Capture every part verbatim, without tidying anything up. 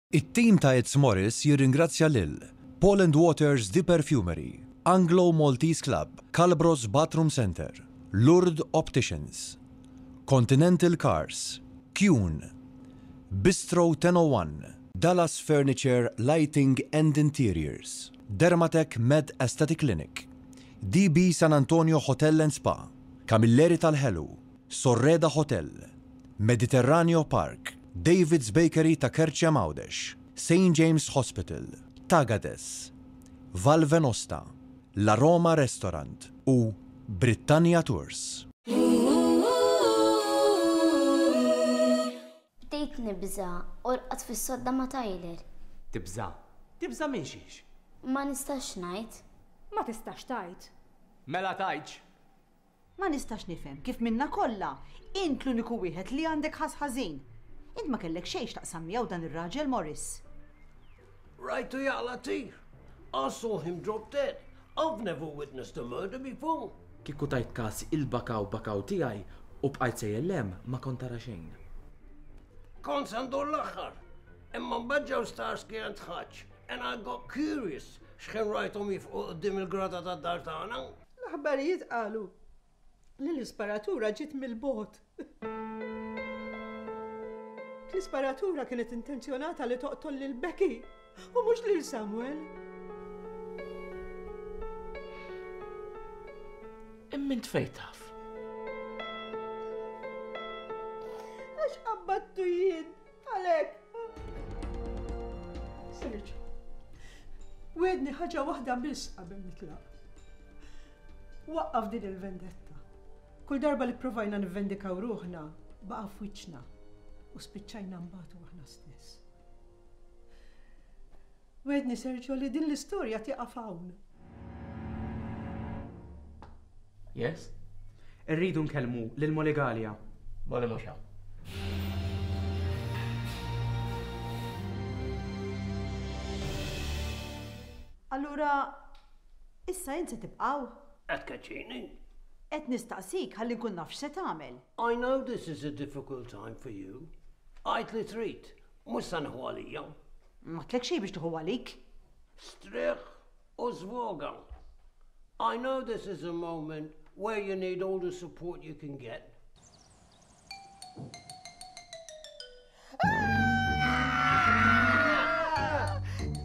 It-tim ta' It's Morris jirringrazzja lil Paul and Waters The Perfumery, Anglo Maltese Club, Calbros Bathroom Center, Lourdes Opticians, Continental Cars, Kuhn, Bistro ten oh one, Dallas Furniture Lighting and Interiors, Dermatec Med Aesthetic Clinic, D B San Antonio Hotel and Spa, Camilleri tal-Ħelu, Sorreda Hotel, Mediterraneo Park, David's Bakery ta' Kerċem Għawdex, Saint James Hospital, Tagades, Val Venosta, La Roma Restaurant u Britannia Tours. Bdejt nibża u rqadt fis-sodda ma' Tyler. Tibża. Tibża minn xiex? Ma nistax ngħid. Ma tistax tgħid. Mela tgħidx. Ma nistax nifhem kif minna kollha int l-uniku wieħed li għandek ħass ħażin. Int ma kellek xejn x'taqsam miegħu dan ir-raġel Morris. Rajtu jaqla' tir. I saw him drop dead. I've never witnessed a murder before. Kieku tajt kas il-bakaw bakaw tiegħi u bqajt sejjer ma kont tara xejn. Kont se ndur l-aħħar. Imma mbagħad ġew Starsky and Hutch and I got curious x'ħin rajthom jifqu quddiem il-grada tad-dar tagħna. L-aħbarijiet qalu li l-isparatura ġiet mill-bogħod. L-isparatura kienet intenzjonata li toqtol lil Becky u mhux lil Samuel. Imma int fejn taf? Għax qabbattu jien, għalek. Serġ, wegħedni ħaġa waħda biss qabel nitlaq. Waqqaf din il-vendetta. Kull darba li provajna nivvendikaw ruħna, baqa' f'wiċċna u spiċċajna mbatu aħna stess. Wegħedni, Sergio, li din l-istorja tieqaf hawn. Yes? Irridu nkellmu lil Molly Galea. Molly mhux hawn. Allura, issa int se tibqgħu? Qed tkeċċini. Qed nistaqsik ħalli nkun naf x'se tagħmel. I know this is a difficult time for you. Għid li trid, mhux se nieħu għalija. M'għedtlek xejn biex tieħu għalik. Strieħ u żvoga. I know this is a moment where you need all the support you can get.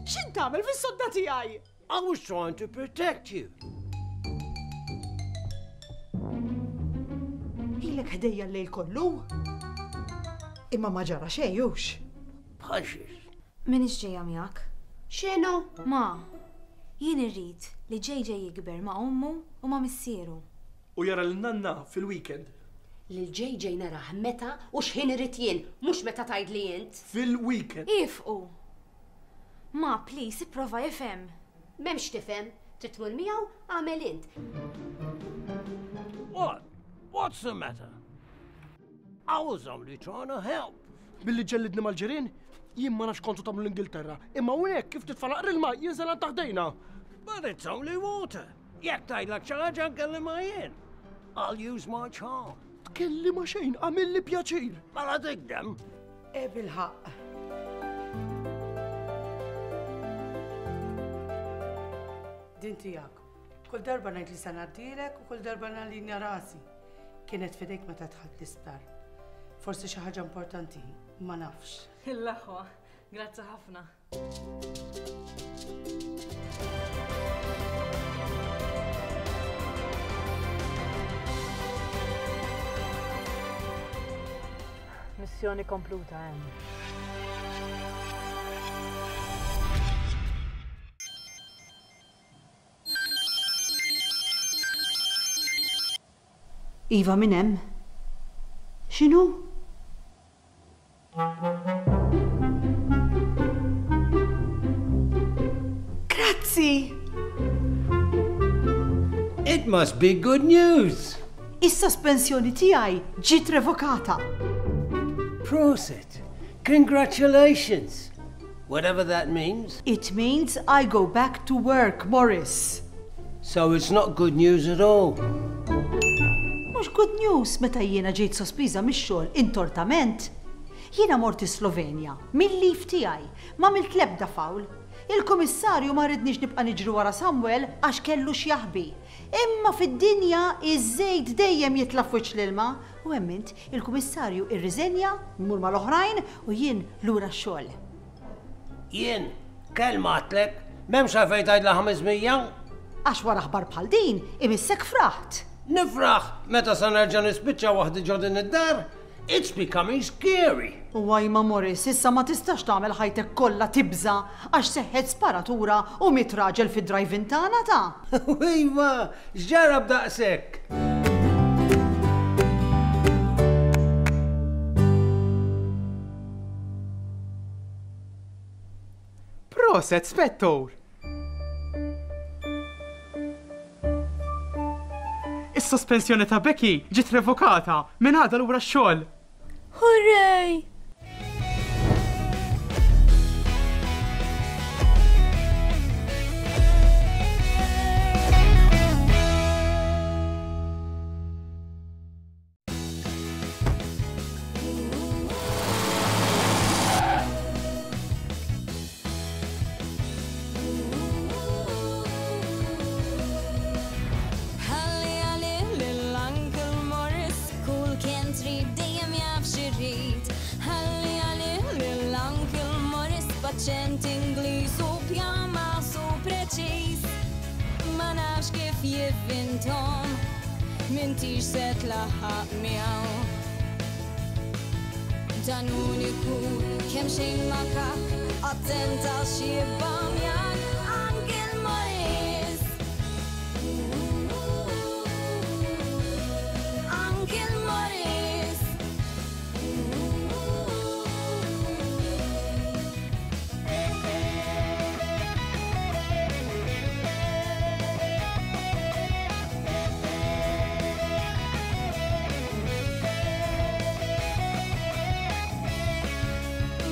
X'int tagħmel fis-sodda tiegħi? I was trying to protect you. Ilek ħdejja l-lejl kollu. Imma ma ġara xejn hux. Bħal xiex. Minix ġejja miegħek. X'inhu? Ma, jien irrid li J J jikber ma' ommu u ma' missieru. U jara l-nanna fil-weekend. Lil J J narah meta u x'ħin irid jien, mhux meta tgħidli int. Fil-weekend. Ifqu! Ma, please, ipprova ifhem. M'hemmx tifhem, trid tmur miegħu, agħmel int. What? What's the matter? I was only trying to help. Billi ġellidni mal-ġirien, jien ma nafx kontu tagħmlu l-Ingilterra. Imma hawnhekk kif titfa' l-ilma jinżel għal taħt idejna. But it's only water. Jekk tgħidlek xi ħaġa nkellimha jien. I'll use my charm. Tkellimha xejn, għamilli pjaċir. Mela tigdem. E bil-ħaqq. Din tiegħek. Kull darba ngħid li se ngħaddilek u kull darba nallinja rasi. Kienet f'idejk meta dħalt l-isptar. Forsi xi ħaġa importanti, ma nafx. Il-laħwa, grazzi ħafna. Missjoni kompluta hemm. Iva, min hemm? X'inhu? Grazzi! It must be good news. Is-sospensjoni tiegħi ġiet revokata. Prosit. Congratulations. Whatever that means. It means I go back to work, Morris. So it's not good news at all. Mhux good news meta jiena ġejt sospiża mix-xogħol intortament. Jiena mort Slovenja, mill-lif tiegħi, ma għamilt l-ebda fawl. Il-kummissarju ma ridniex nibqa' niġri wara Samuel għax kellu x'jaħbi. Imma fid-dinja iż-żejt dejjem jitla' f'wiċċ l-ilma. U hemm int, il-kummissarju irriżenja, jmur mal-oħrajn u jien lura x-xogħol. Jien, kelma għadtlek, m'hemmx għalfejn tgħidla ħames mija? Għax wara aħbar bħal din, imissek fraħt. Nifraħ meta sa nerġa' nispiċċa waħdi ġo din id-dar? It's becoming scary. U għajma Morris, issa ma tistax tagħmel ħajtek kollha tibża għax seħħet sparatura u miet raġel fid-drive-in tagħna ta'. Iva, x'ġara b'daqshekk? Proset, Spettor! Is-sospensjoni ta' Becky ġiet revokata minn għada lura x-xogħol. Hooray! Ħalli għalih lill-Uncle Morris, kull kien trid dejjem jaf x'irid. Ħalli għalih lill-Uncle Morris, b'aċċent Ingliż u pjama su preċiż. Ma nafx kif jivvinthom, m'intix se tlaħħaq miegħu. Dan uniku kemm xejn makak, attent għax jibbamjak Uncle Morris. Uncle Morris.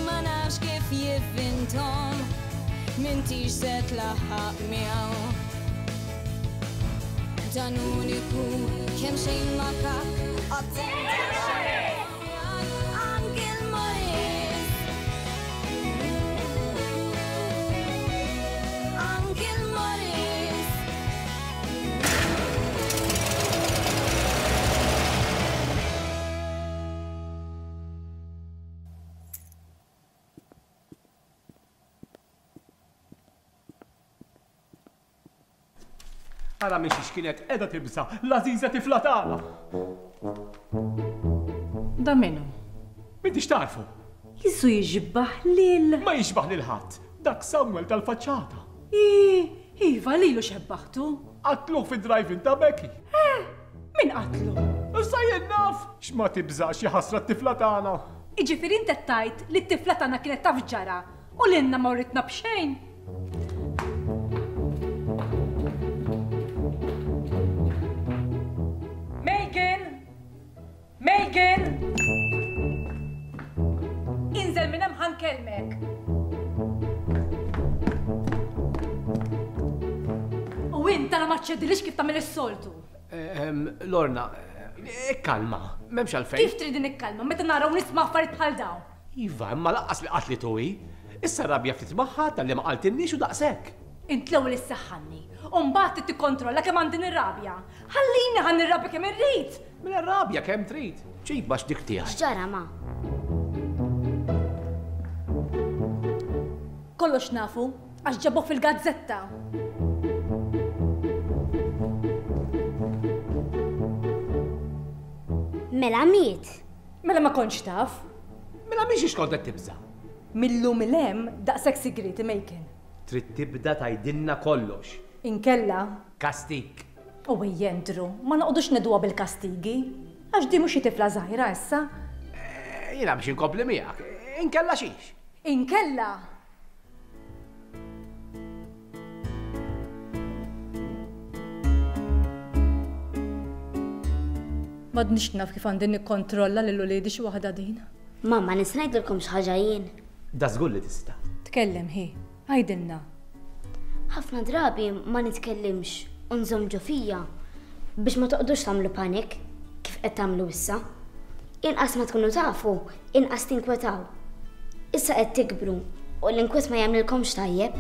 Ma nafx kif jivvinthom, m'intix se tlaħħaq miegħu. Dan uniku kemm xejn makak, attent għax jibbamjak Uncle Morris. Uncle Morris. Ara miex kienet qiegħda tibża' l-għażiża tifla tagħna. Da minnu? M'intix tarfu? Jisu jiġbaħ lil. Ma jiġbaħ lil ħadd. Dak Samuel tal-faċċata. Ii, iva lilu xebbaħtu. Qatluh fid-drive-in ta' Becky. Eh, min qatlu? Issa jien naf x'ma tibżax ħasra t-tifla tagħna. Iġifieri inti qed tgħid li t-tifla tagħna kienet taf ġara u lilna ma writna b'xejn. Megan! Megan! Inżel minn hemm ħa nkellmek. U int tara ma ċċedilix kif tagħmel is-soltu. Lorna, ikkalma, m'hemmx għalfejn. Kif trid nikkalma meta nara u nisma' affarijiet bħal dawn? Iva, imma laqqas li qatlitu hi. Issa rabja ftit magħha talli ma qaltilniex u daqshekk. Int l-ewwel issaħħanni, u mbagħad trid tikkontrolla kemm għandi nirrabja. Ħallini ħa nirrabja kemm irrid. Mela rabja kemm trid. Ġib għax dik tiegħi. X'ġara ma? Kollox nafu, għax ġabuh fil-gazzetta. Mela miet. Mela ma kontx taf. Mela mhix x'kont qed tibża'. Millum il hemm daqshekk sigriti Megan. Trid tibda tgħidilna kollox. Inkella. Kastik. U jendru, ma noqogħdux nedwa bil-kastigi. Għax di mhux xi tifla żgħira issa. Jiena biex inkompli miegħek. Inkella xiex. Inkella. M'għadniex naf kif għandi nikkontrolla lil uliedi xi waħda din. Mamma, nista' ngħidilkom xi ħaġa jien. Da żgur li tista'. Tkellem hi, għidilna. Ħafna drabi ma nitkellimx u nżomm ġo fija biex ma toqgħodux tagħmlu panik kif qed tagħmlu issa. Inqas ma tkunu tafu, inqas tinkwetaw. Issa qed tikbru u l-inkwiet ma jagħmlilkomx tajjeb.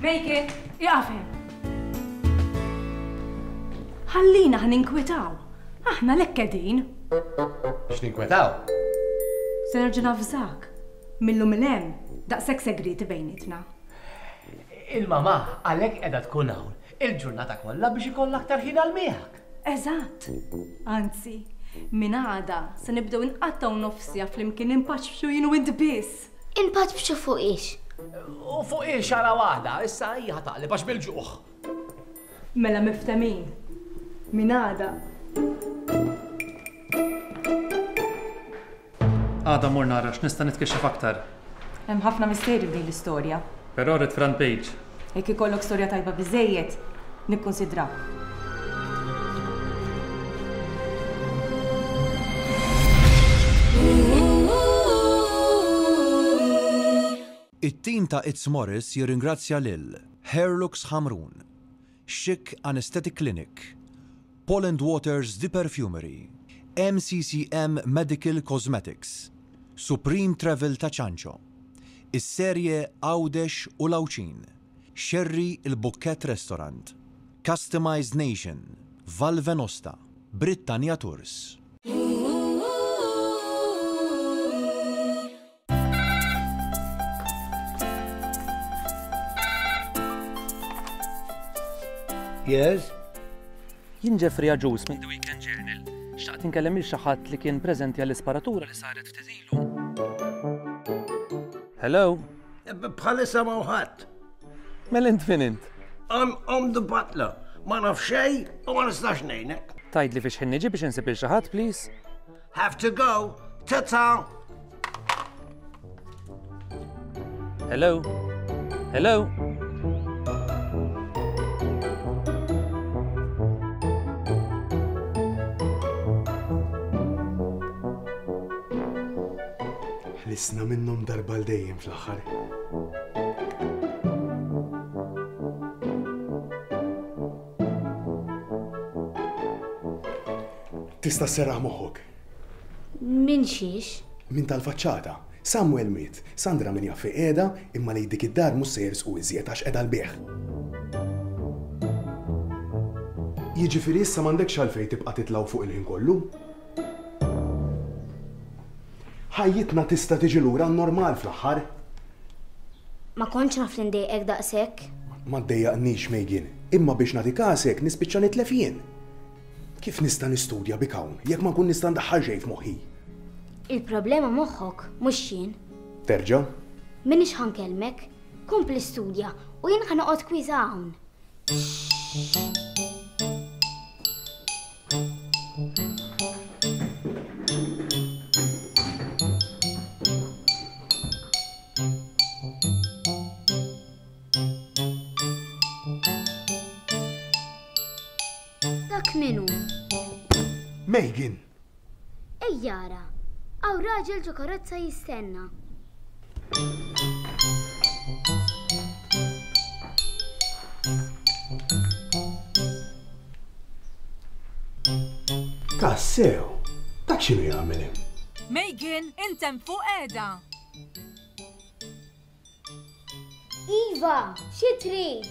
Make it, ieqaf hemm. Ħallina ħa ninkwetaw. Aħna lek qegħdin. Biex ninkwetaw? Se nerġa' nafżak. Millum 'il hemm daqshekk segreti bejnietna. Il-mamà għalhekk qiegħda tkun hawn il-ġurnata kollha biex ikollha aktar ħin għal miegħek. Eżatt. Anzi, minn għada se nibdew inqattgħu nofsija flimkien inpaċċu jien u int biss. Inpaċċu fuq ix? U fuq ix ara waħda, issa hija taqleb għax bil-ġuħ. Mela miftemin. Minn għada. Għada mur nara x'nista' nitkixxef aktar. Hemm ħafna misteri f'din l-istorja. Però rrid front page. Jekk ikollok storja tajba biżejjed, nikkonsidrak. It-tim ta' It's Morris jirringrazzja lil Hairlux Ħamrun, Chic Anesthetic Clinic, Paul and Waters The Perfumery, M C C M Medical Cosmetics, Supreme Travel ta' Ċanċo, is-serje Għawdex u Lawċin, Sherry il-Bukket Restaurant, Customized Nation, Val Venosta, Britannia Tours. Yes? Jien Jeffrey Agius minn The Weekend Journal. Xtaqt inkellem lil xi ħadd li kien preżenti għall-isparatura li saret ftit ilu. Hello? Bħalissa ma ħadd. Mela int min int? I'm, I'm the butler. Ma naf xejn u ma nistax ngħinek. Tgħidli fiex ħin niġi biex insib lil xi ħadd, please? Have to go. Ta-ta. Hello? Hello? Ħlisna minnhom darba l dejjem fl-aħħar. Tista' sserraħ moħħok. Min xiex? Min tal-faċċata. Samuel miet, Sandra min jaf fejn qiegħda, imma lejn dik id-dar mhux se jersqu iżjed għax qiegħda l-bieħ. Jiġifieri issa m'għandekx għalfejn tibqa' titlgħu fuq il-ħin kollu. Ħajjitna tista' tiġi lura normal fl-aħħar. Ma kontx naf li ndejqek daqshekk. Ma ddejjaqnix Megan, imma biex nagħti kasek nispiċċa nitlef jien. Kif nista' nistudja bik hawn jekk ma nkun nista' ndaħħal xejn f'moħħi? Il-problema moħħok mhux jien. Terġa'? M'iniex ħa nkellmek, kompli studja u jien ħa noqgħod kwiża hawn. Dak minu? Megan! Ejjara, għaw raġel ġo karozza jistenna. Tassew, dak x'inhu jagħmel hemm? Megan, intem fuq qiegħda. Iva, xi trid?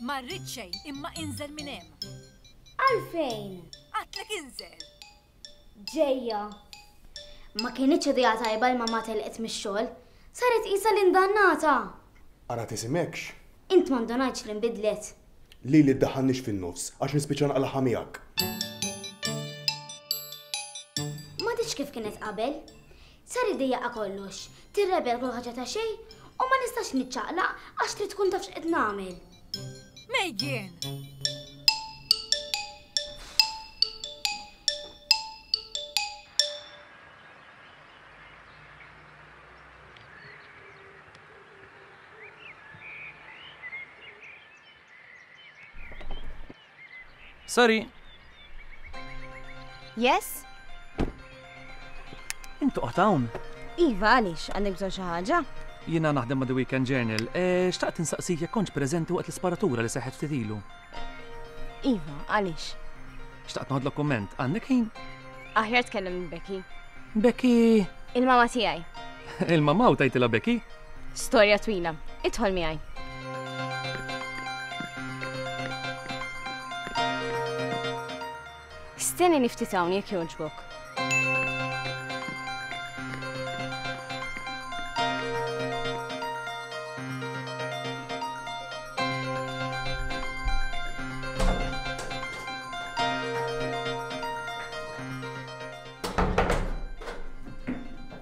Ma rrid xejn, imma inżel minn hemm. Għalfejn? Għadtlek inżel. Ġejja. Ma kienitx idea tajba l-mamma telqet mix-xogħol. Saret qisha l-indannata. Ara tisimekx. Int ma ndunajtx li nbidlet. Lili ddaħħalniex fin-nofs għax nispiċċa naqlaħha miegħek. Ma tix kif kienet qabel. Sar idejjaqa kollox, tirrebel kull ħaġa ta' xejn u ma nistax niċċaqlaq għax trid tkun taf x'qed nagħmel. Megan! Sorry. Yes? Intu qgħod hawn. Iva, għaliex, għandek bżonn xi ħaġa? Jiena naħdem ma' The Weekend Journal. E, xtaqt insaqsik jekk kontx preżenti waqt l-isparatura li seħħet ftit ilu. Iva, għaliex? Xtaqt noħodlok kumment. Għandek ħin? Aħjar tkellem minn Becky. Becky. Il-mama tiegħi. Il-mama u tajtilha Becky? Storja twila. Idħol miegħi. Stenni niftit hawn jekk jogħġbok.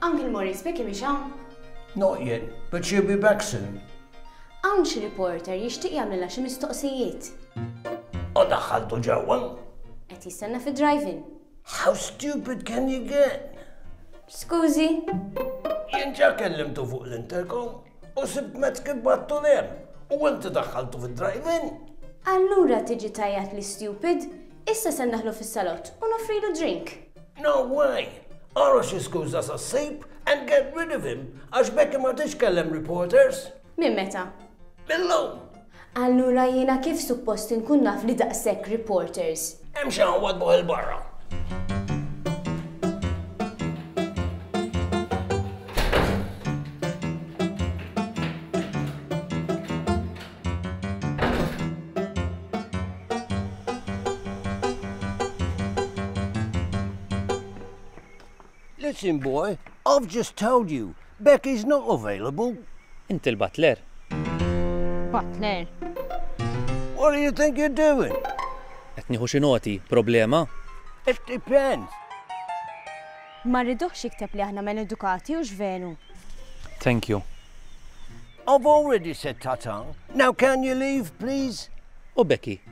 Uncle Morris, Becky mhix hawn? Not yet, but she'll be back soon. Hawn xi reporter jixtieq jagħmlilha xi mistoqsijiet. U daħħaltu ġewwa? Qed jistenna fi drive-in. How stupid can you get? Skużi? Jien ġa kellimtu fuq l-intercom u sibt mezz kif bgħattu 'l hemm. U inti daħħaltu fid-drive-in. Allura tiġi tgħajjatli stupid, issa se ndaħlu fis-salott u noffrilu drink. No way! Ara xi skuża sa ssib and get rid of him għax Becky ma titkellem reporters. Minn meta? Millum. Allura jiena kif suppost inkun naf li daqshekk reporters? Hemm xi wadbuh 'il barra. Listen, boy, I've just told you, Becky's not available. Inti l-butler. Butler. What do you think you're doing? Qed nieħu xi noti, problema? It depends. Ma rridux jikteb li aħna maledukati u x'veru. Thank you. I've already said ta-ta. Now can you leave, please? U Becky?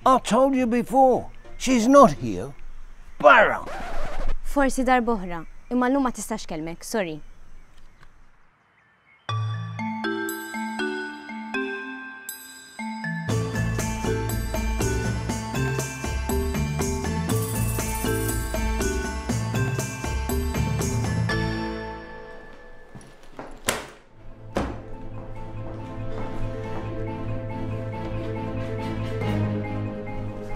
I told you before, she's not here. Barra! Forsi darb'oħra, imma llum ma tistax tkellmek, sorry.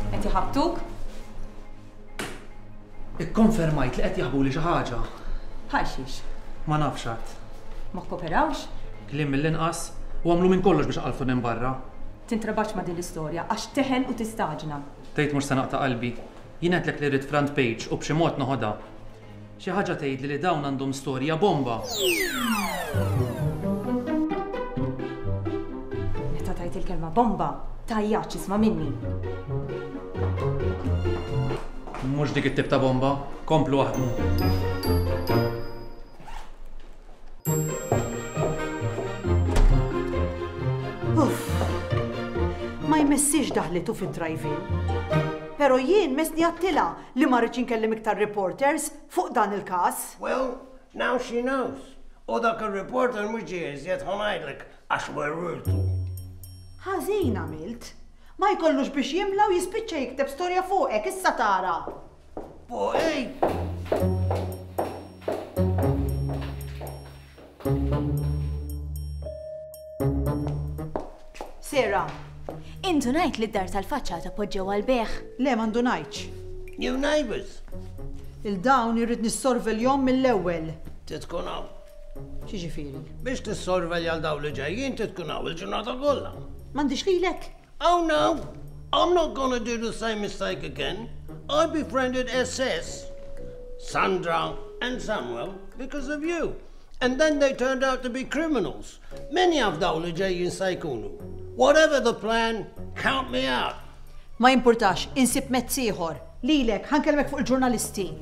Qed iħabbtuk? Ikkonfermajt li qed jaħbuli xi ħaġa. Bħal xiex. Ma nafx għad. Ma kkoperawx? Kliem mill-inqas u għamlu minn kollox biex qalfu minn barra. Tintrabax ma' din l-istorja għax teħel u tistaġna. Tgħid mhux se naqta' qalbi. Jien għedtlek li rrid front page u b'xi mod noħodha. Xi ħaġa tgħidli li dawn għandhom storja bomba. Meta tajt il-kelma bomba, tgħajjatx isma' minni. Mhux dik it-tip ta' bomba, komplu aħdmu. Uff, ma jmessix daħlitu fid-drive-in. Pero jien messni għedtilha li ma rridx inkellem iktar reporters fuq dan il-każ. Well, now she knows. U dak il-reporter mhux ġie iżjed ħa ngħidlek għax werwirtu. Ħażin għamilt. Ma jkollux biex jimla u jispiċċa jikteb storja fuqek, issa tara. Fuqi? Sarah. Indunajt li d-dar tal-faċċata poġġew għal-bejgħ. Le, ma ndunajtx. New neighbors. Lil dawn irrid nissorveljahom mill-ewwel. Titkun hawn. X'jiġifieri? Biex tissorvelja 'l dawn li ġejjin titkun hawn il-ġurnata kollha. M'għandix lilek? Oh no, I'm not gonna do the same mistake again. I befriended S S, Sandra and Samuel because of you. And then they turned out to be criminals. Min jaf dawn li ġejjin se jkunu. Whatever the plan, count me out. Ma jimpurtax, insib mezz ieħor. Lilek, ħa nkellmek fuq il-ġurnalisti.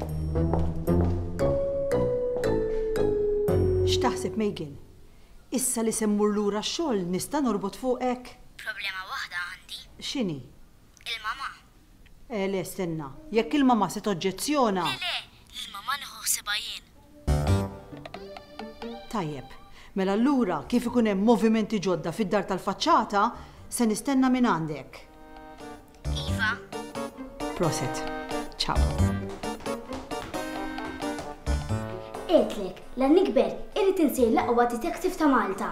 X'taħseb, Megan? Issa li se mmur lura x-xogħol nista' norbot fuqek? Problema waħda għandi. X'inhi? Il-mama. Eh, le, stenna. Jekk il-mama se toġġezzjona. Le, le, il-mama nieħu ħsiebha jien. Tajjeb. Mela allura kif ikun hemm movimenti ġodda fid-dar tal-faċċata, se nistenna minn għandek. Iva. Prosit. Ciao. Għedtlek, la nikber irrid insir l-aqwa detective ta' Malta.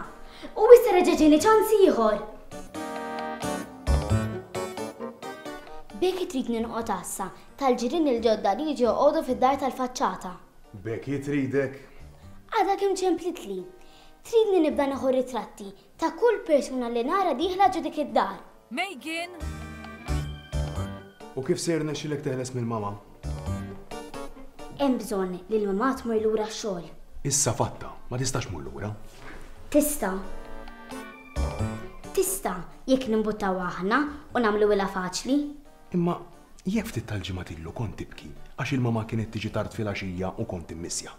U issa reġa' ġieni ċans ieħor. Becky tridni noqgħod għassa tal-ġirien il-ġodda li jiġu joqogħdu fid-dar tal-faċċata. Becky tridek? Għadha kemm ċemplitli. Tridni nibda nieħu ritratti ta' kull persuna li nara dieħla ġo dik id-dar. Megan! U kif se jirnexxilek teħles mill-mama? Hemm bżonn li l-mamà tmur lura x-xogħol. Issa fatta, ma tistax tmur lura. Tista'. Tista' jekk nimbuttaw aħna u nagħmluhilha faċli. Imma jekk ftit tal-ġimgħat ilu kont tibki għax il-mama kienet tiġi tard filgħaxija u kont immissja.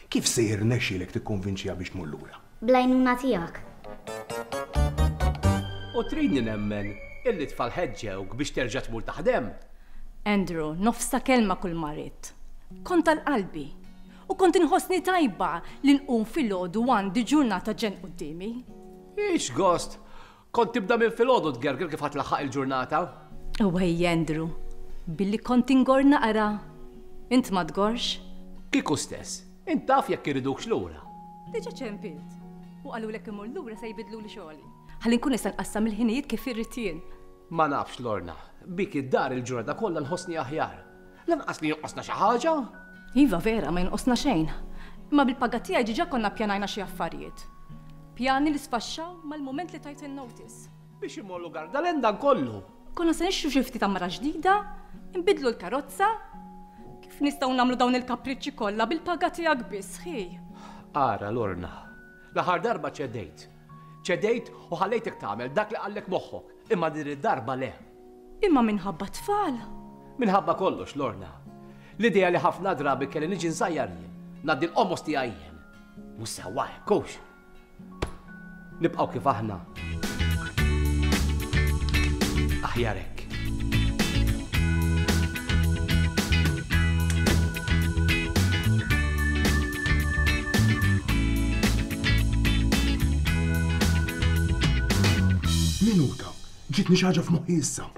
Kif se jirnexxielek tikkonvinċiha biex tmur lura? Bl-għajnuna tiegħek. U tridni nemmen illi tfal ħeġġewk biex terġa' tmur taħdem? Andrew, nofsa kelma kull ma ridt. Kont tal-qalbi u kont inħossni tajba li nqum filgħodu għandi ġurnata ġen quddiemi. Ix gost, kont tibda minn filgħodu tgerger kif ħatlaħħaq il-ġurnata. Wej Andrew, billi kont ingor naqra. Int ma tgorx? Kieku stess, int taf jekk iridukx lura. Diġà ċempilt u qalulek imur lura se jbidluli xogħli. Ħalli nkun nista' nqassam il-ħinijiet kif irrid jien. Ma nafx Lorna, bik id-dar il-ġurnata kollha nħossni aħjar. Lanqas li jonqosna xi ħaġa? Iva vera, ma jonqosna xejn. Imma bil-paga tiegħi diġà konna ppjanajna xi affarijiet. Pjani li sfaxxaw mal-mument li tajt il-notice. Biex imorru Gardalen dan kollu. Konna se nixtru xi ftit mara ġdida, nbidlu l-karozza. Kif nistgħu nagħmlu dawn il-kapriċċi kollha bil-paga tiegħek biss, ħi? Ara Lorna, l-aħħar darba ċedejt. Ċedejt u ħallejtek tagħmel dak li qallek moħħok, imma din id-darba le. Imma minħabba tfal. Minħabba kollox, Lorna. L-idea li ħafna drabi kelli niġi nsajjar jien, ngħaddi l-qomos tiegħi jien. Mhux sewwa hekk hux. Nibqgħu kif aħna. Aħjar hekk. Minuta, ġitni xi ħaġa f'moħħi issa.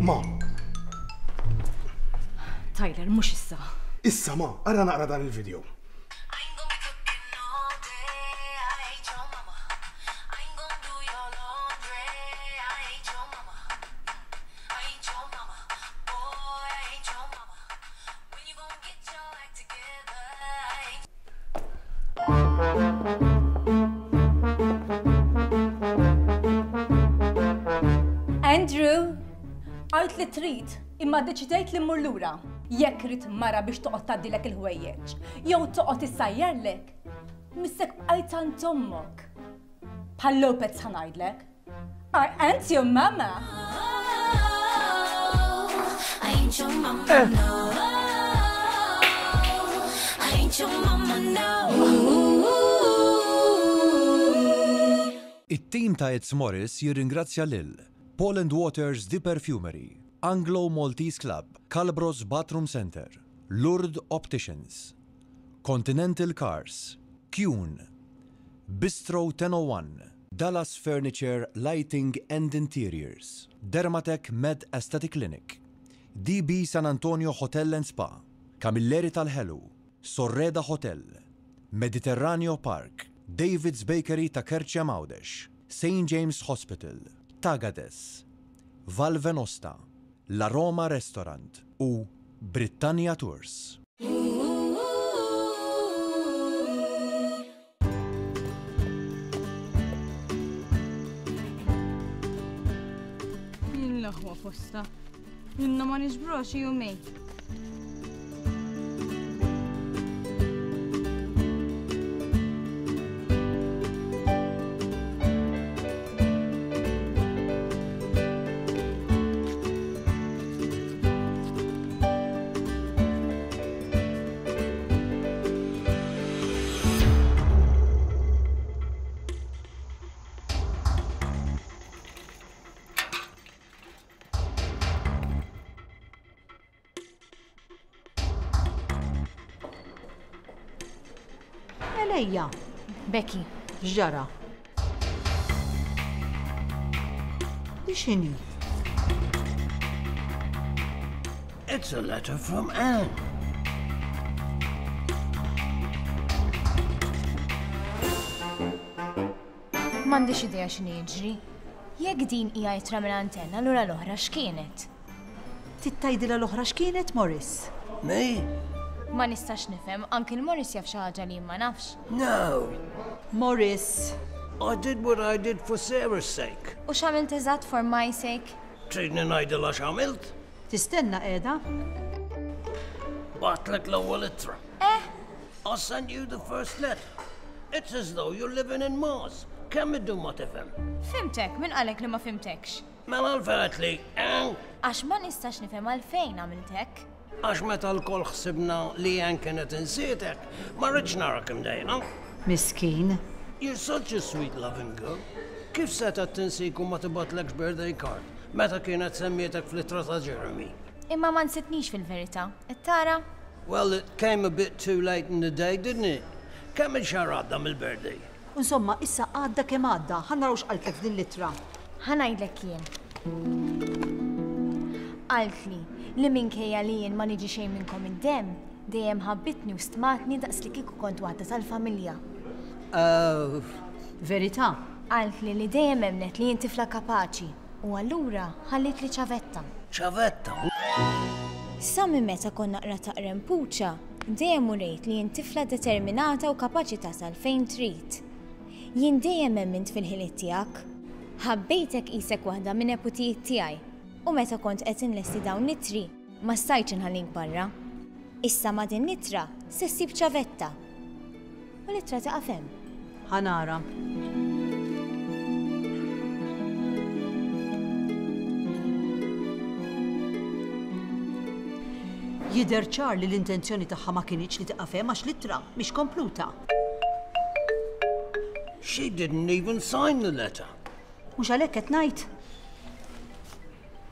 Ma. Tyler, mhux issa. Issa ma, ara naqra dan il-video. Andrew, għalt li trid, imma deċidejt li mmur lura. Jekk rid mara biex toqgħod tgħaddilek il-ħwejjeġ, jew toqgħod issajjarlek, missek bqajt għand ommok. Bħal Lopez ħa ngħidlek. I ain't your mama. I ain't your mama, no. I ain't your mama, no. It-tim ta' It's Morris jirringrazzja lil Paul and Waters The Perfumery, Anglo Maltese Club, Calbros Bathroom Center, Lourdes Opticians, Continental Cars, Kuhn, Bistro ten oh one, Dallas Furniture, Lighting and Interiors, Dermatec Med Aesthetic Clinic, D B San Antonio Hotel and Spa, Camilleri Tal-Ħelu, Sorreda Hotel, Mediterraneo Park, David's Bakery ta' Kerċem Għawdex, Saint James Hospital, Tagades, Val Venosta, La Roma Restaurant u Britannia Tours. L-aħwa posta. Inna ma niġbru xi jumejn. Mela ejja. Becky. X'ġara? Di x'inhi? It's a letter from Anne. M'għandix idea x'inhi jiġri. Jekk din hija ittra minn antenna, allura l-oħra x'kienet? Trid tgħidilha l-oħra x'kienet, Morris? Me? Ma nistax nifhem, anki l-Morris jaf xi ħaġa li ma nafx. No. Morris. I did what I did for Sarah's sake. U x'għamilt eżatt for my sake? Tridni ngħidilha x'għamilt? Tistenna qiegħda? Bgħattlek l-ewwel ittra. Eh? I sent you the first letter. It's as though you're living in Mars. Kemm iddum ma tifhem? Fhimtek, min qalek li ma fhimtekx? Mela għalfejn li, eh? Għax ma nistax nifhem għalfejn għamilt hekk. Għax meta lkoll ħsibna li Ann kienet insietek, ma rridx narak imdejqa. Miskin. You're such a sweet loving girl. Kif setgħet tinsik u ma tibgħatlekx birthday card meta kienet semmietek fl-ittra ta' Jeremy? Imma ma nsitnix fil-verità. Qed tara? Well, it came a bit too late in the day, didn't it? Kemm il-xahar għadda mill-birthday? Insomma, issa għadda kemm għadda, ħa naraw x'qaltlek f'din l-ittra. Ħa ngħidlek jien. Qaltli li minkejja li jien ma niġi xejn minnkom id-demm, dejjem ħabbitni u stmatni daqs li kieku kont waħda tal-familja. Oh, verità. Qaltli li dejjem emnet li jien tifla kapaċi u allura ħallit li ċavetta. Ċavetta? Sa minn meta kont naqra taqrem puċa, dejjem urejt li jien tifla determinata u kapaċi tasal fejn trid. Jien dejjem emmint fil-ħiliet tiegħek. Ħabbejtek qisek waħda minn neputijiet tiegħi u meta kont qed inlesti dawn l-ittri ma stajtx inħallink barra. Issa ma' din l-ittra se ssib ċavetta. U l-ittra tieqaf hemm. Ħa nara. Jidher ċar li l-intenzjoni tagħha ma kinitx li tieqaf hemm għax l-ittra mhix kompluta. She didn't even sign the letter. Mhux għalhekk qed ngħid.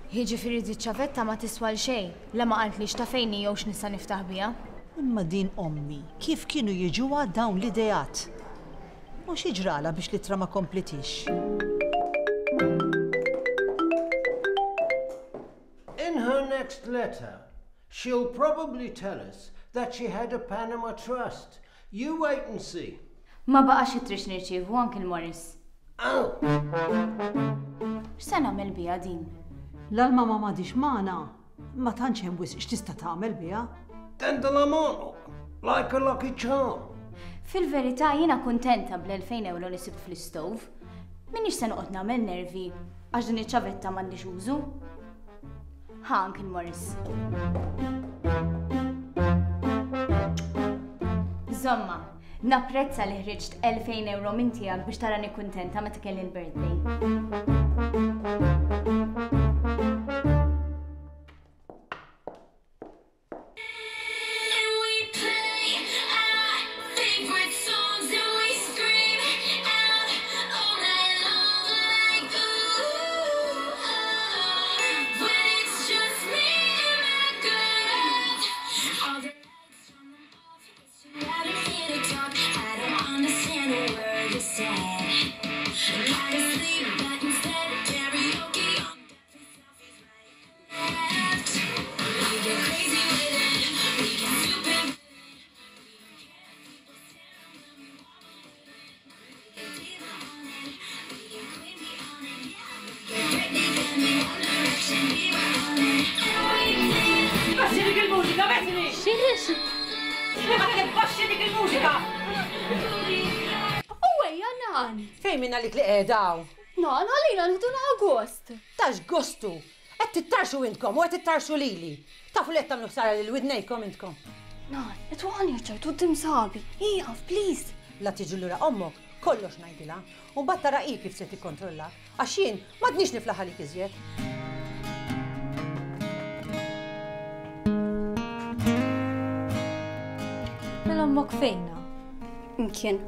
Jiġifieri di ċavetta ma tiswa xejn, la ma qaltlix ta' fejn jew x'nista' niftaħ biha. Imma din ommi, kif kienu jiġuha dawn l-ideat? U xi ġrala biex l-ittra ma komplitix? In her next letter, she'll probably tell us that she had a Panama Trust. You wait and see. Ma baqax ittri nirċievu Uncle Morris. Oh! X'se nagħmel biha din? La l-mama m'għadhiex magħna, ma tantx hemm wisq x'tista' tagħmel biha. Tendilha m'għonqok, like a lucky charm. Fil-verità jiena kuntenta bl-elfejn euro li sibt fl-istove. Minix se noqgħod nagħmel nervi għax din iċ-ċavetta m'għandix użu. Ha, Uncle Morris. Żomma, napprezza li ħriġt elfejn euro minn tiegħek biex tarani kuntenta meta kelli l-birthday. And we play our favorite songs and we scream out all night long like ooh, oh. When it's just me and my girls, all the lights turn them off. It's too loud in here to talk. I don't understand a word you said. Gotta sleep, but instead karaoke on left. We get crazy with it, we get stupid. Baxxi dik il-mużika, Bethany! Xiex? Għedtlek baxxi dik il-mużika! U ejja nan! Fejn minna li qiegħda? Nan, għalina nieħdu gost. Tax gostu! Qed tittarxu intkom u qed tittarxu lili. Tafu li qed tagħmlu ħsara lil widnejkom intkom. Nan, qed waqani ċajt quddiem sħabi. Ieqaf, please. La tiġi lura ommok, kollox ngħidilha. U mbagħad tara hi kif se tikkontrolla. Għax jien m'għadniex niflaħ għalik iżjed. Mela ommok fejna? Imkien.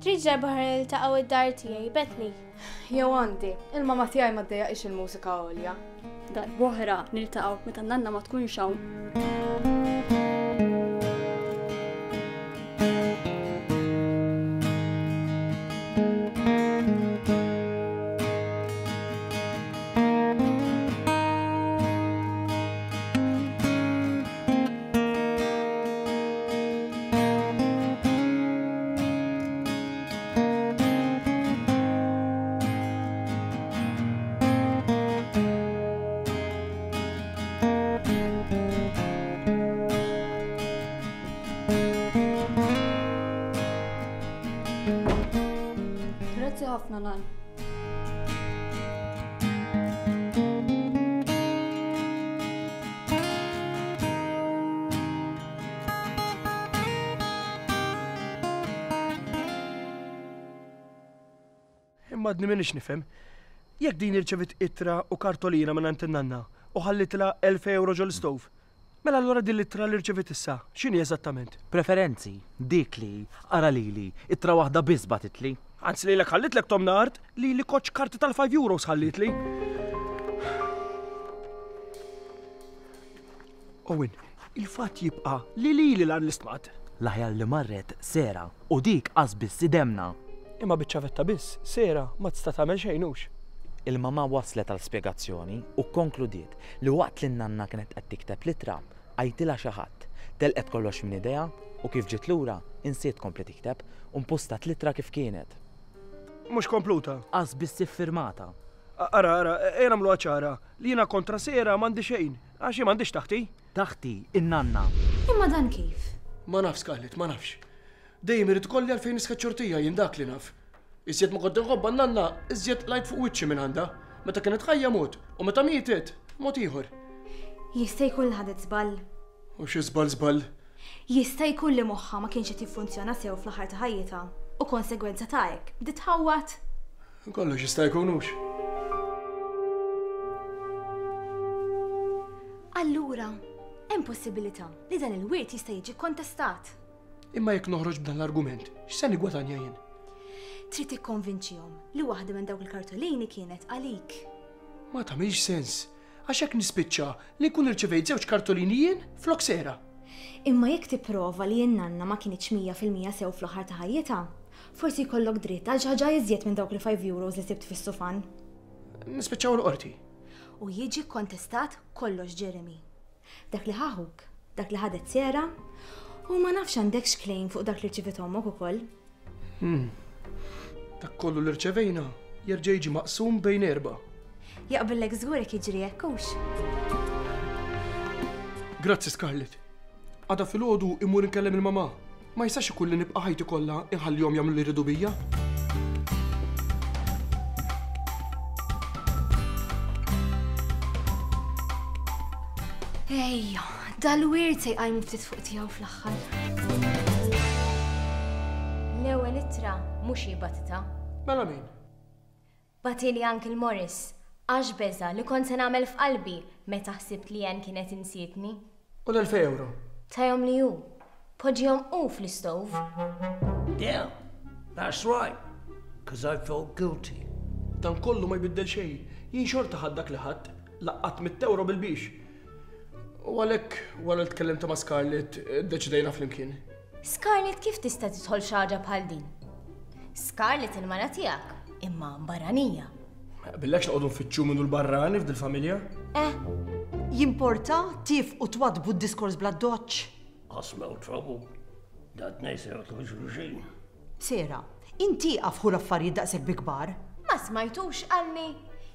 Trid darba ħa niltaqgħu id-dar tiegħi, Bethany. Jew għandi, il-mama tiegħi ma ddejjaqx il-mużika għolja. Darb'oħra niltaqgħu meta nanna ma tkunx hawn. ħafna nan. Imma għadni m'iniex nifhem. Jekk din irċevit ittra u kartolina minn għand in-nanna u ħallitilha elf euro ġol-istove, mela allura din l-ittra li rċevit issa, x'inhi eżattament? Preferenzi, dik li, ara lili, ittra waħda biss bagħtitli. Anzi lilek ħallitlek tomna art li li koċ karti tal-five euros ħallitli. Owen, il-fatt jibqa' li lili lan l-istmat. L-aħjar li marret Sera u dik qas biss idemna. Imma biċ-ċavetta biss, Sera ma tista' tagħmel xejn hux. Il-mamà waslet għal spjegazzjoni u kkonkludiet li waqt li n-nanna kienet qed tikteb l-ittra, għajtilha xi ħadd. Telqet kollox minn idejha u kif ġiet lura insiet tkompli tikteb u mpustat l-ittra kif kienet. Mhux kompluta? Qas biss iffirmata. Ara, ara, ejja nagħmluha ċara li jiena kontra Sera m'għandi xejn, għax hi m'għandix taħti. Taħti, in-nanna. Imma dan kif? Ma nafx, Scarlett, ma nafx. Dejjem irid ikolli għalfejn nisħet xortija jien dak li naf. Iżjed ma kont inħobbha n-nanna, iżjed lajt fuq wiċċi minn għandha. Meta kienet ħajja mod, u meta mietet, mod ieħor. Jista' jkun li ħadet żball. U xi żball żball? Jista' jkun li moħħha ma kienx qed jiffunzjona sew fl-aħħar ta' ħajjitha u konsegwenza ta' hekk bdiet tħawwad. Kollox jista' jkun hux. Allura, hemm possibilità li dan il-wirt jista' jiġi kontestat. Imma jekk noħroġ b'dan l-argument, x'se nigwadanja jien? Trid tikkonvinċihom li waħda minn dawk il-kartolini kienet għalik. Ma tagħmilx sens, għax hekk nispiċċa li nkun irċevejt żewġ kartolini jien flok Sera. Imma jekk tipprova li n-nanna ma kinitx mija fil-mija sew fl-aħħar ta' ħajjitha, forsi jkollok dritt għal xi ħaġa iżjed minn dawk il-five euros li sibt fis-sufan. Nispiċċaw l-qorti. U jiġi kontestat kollox, Jeremy. Dak li ħaħuk, dak li ħadet Sera, u ma nafx għandekx claim fuq dak li rċivit ommok ukoll. Hmm. Dak kollu li rċevejna jerġa' jiġi maqsum bejn erba'. Jaqbillek żgur jekk jiġri hekk hux. Grazzi Scarlett. Għada filgħodu immur inkellem il-mamà. Ma jistax ikun li nibqa' ħajti kollha inħallihom jagħmlu li jridu bija. Ejja, dal-wirt se jqajmu ftit fuq tiegħu fl-aħħar. L-ewwel ittra mhux hi batita. Mela min? Batili Uncle Morris, għax beża li kont se nagħmel f'qalbi meta ħsibt li Ann kienet insietni. U l-elfej euro? Tajhom li hu. Poġġihom hu fl-istove. Yeah, that's right. 'Cause I felt guilty. Dan kollu ma jbiddel xejn. Jien xorta ħadd dak li ħadd, laqqat mitt euro bil-biex. U għalhekk wara li tkellimt ma' Scarlett, iddeċidejna flimkien. Scarlett kif tista' tidħol xi ħaġa bħal din? Scarlett il-mara tiegħek, imma barranija. Ma jaqbillekx noqogħdu nfittxu minnu l-barrani f'dil-familja? Eh. Jimporta tif u twadbu d-diskors bla doċċ. I smell trouble. Dat nejser xulxin. Sera, inti għafħu l-affarijiet daqshekk bi kbar. Ma smajtux qalni.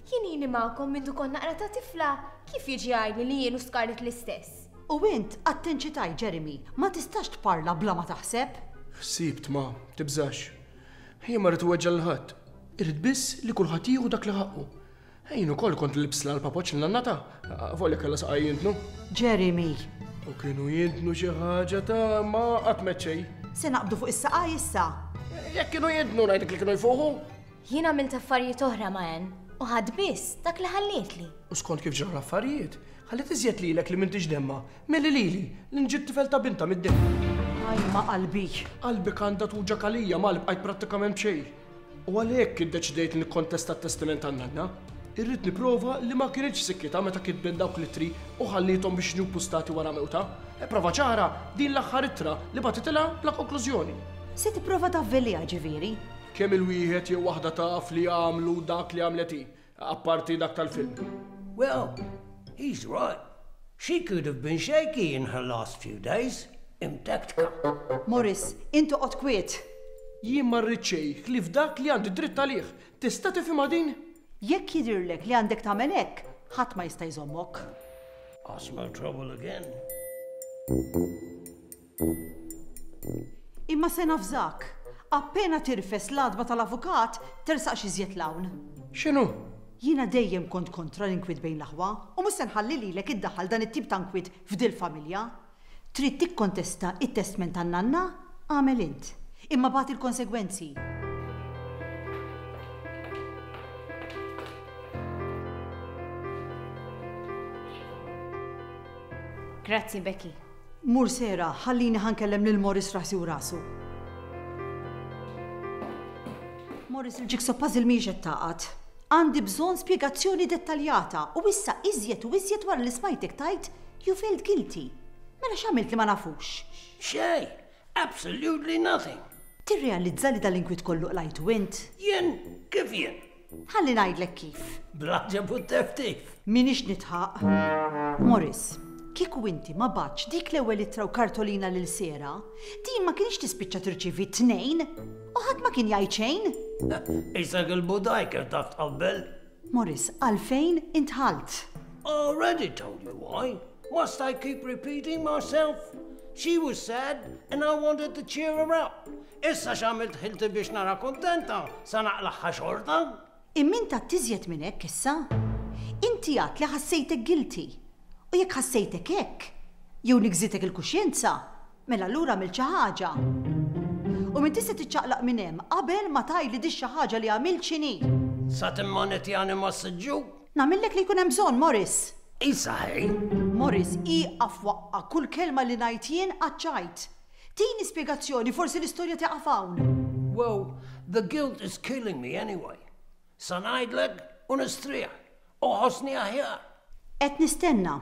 Jien ili magħkom mindu kont naqra ta' tifla, kif jiġi għajni li jien u Scarlett l-istess? U int attenċitaj, Jeremy, ma tistax tparla bla ma taħseb. Ħsibt ma, tibżax. Jien ma rrid weġġa' lil ħadd. Irrid biss li kulħadd jieħu dak li ħaqqu. Jien ukoll kont libsla l-papoċ l-nannata, volja kellha saqaj jintnu. Jeremy. U kienu jintnu xi ħaġa ta' ma qatt meċċej. Se naqbdu fuq is-saqaj issa. Jekk kienu jintnu ngħidlek li kienu jfuħu. Jien għamilt affarijiet oħra ma' Ann u ħadd biss dak li ħallietli. U skont kif ġraw l-affarijiet, ħalliet iżjed lilek li m'intix demma, milli lili li nġiet tifel ta' binta mid-demm. Aj ma' qalbi. Qalbek għandha tuġa kalija ma li bqajt prattikament b'xejn. U għalhekk iddeċidejt li nikkontesta t-testament tan-nanna. Irrid nipprova li ma kienx sikkita meta kitbet dawk l-ittri u ħalliethom biex jiġu ppustati wara mewta. E prova ċara din l-aħħar ittra li bagħtitilha bla konklużjoni. Se tipprova tavvelliha ġifieri? Kemm il-wieħed jew waħda taf li għamlu dak li għamlet hi, apparti dak tal-film. Well, he's right. She could have been shaky in her last few days. Imtektka. Morris, intu qgħod kwiet. Jien ma rrid xejn ħlief dak li għandi dritt għalih. Tista' tifhimha din? Jekk jidhirlek li għandek tagħmel hekk, ħadd ma jista' jżommok. I smell trouble again. Imma se nafżak, Appena tirfes l-għatba tal-avukat, tersaqx iżjed 'l hawn. X'inhu? Jiena dejjem kont kontra l-inkwiet bejn l-aħwa u mhux se nħalli lilek iddaħħal dan it-tip ta' nkwiet f'dil-familja. Trid tikkontesta it-testment tan-nanna? Agħmel int. Imma bati l-konsegwenzi. Grazzi, Becky. Mur Sera, ħallini ħa nkellem lil Morris rasi u rasu. Morris, il-jigsaw puzzle mhijiex qed tagħqad. Għandi bżonn spjegazzjoni dettaljata u issa iżjed u iżjed wara li smajtek tgħid you felt guilty. Mela x'għamilt li ma nafux? Xejn, absolutely nothing. Tirrealizza li dal-inkwiet kollu qlajtu int? Jien, kif jien? Ħalli ngħidlek kif. Bl-għaġeb u t-teftif. M'iniex nidħaq. Morris, kieku inti ma bgħattx dik l-ewwel ittra u kartolina lil Sera, din ma kienx tispiċċa tirċievi tnejn u ħadd ma kien jgħid xejn. Isek il-budaj kif taf tqabbel. Morris, għalfejn indħalt? Already told you why. Must I keep repeating myself? She was sad and I wanted to cheer her up. Issa x'għamilt ħilti biex nara kontenta, sa naqlagħha xorta? Imma int għedt iżjed minn hekk issa. Inti għedt li ħassejtek guilty. U jekk ħassejtek hekk, jew nigżitek il-kuxjenza, mela allura għamilt xi ħaġa. U m'intix se tiċċaqlaq minn hemm qabel ma tgħidli di xi ħaġa li għamilt x'inhi. Sa timmanetjani ma' siġġu? Nagħmillek li jkun hemm bżonn, Morris. Isa ħej. Morris, ieqaf waqqa' kull kelma li ngħid jien għaċ-ċajt. Tini spjegazzjoni, forsi l-istorja tieqaf hawn. Well, the guilt is killing me anyway. Sa ngħidlek u nistrieħ u ħossni aħjar. Qed nistenna.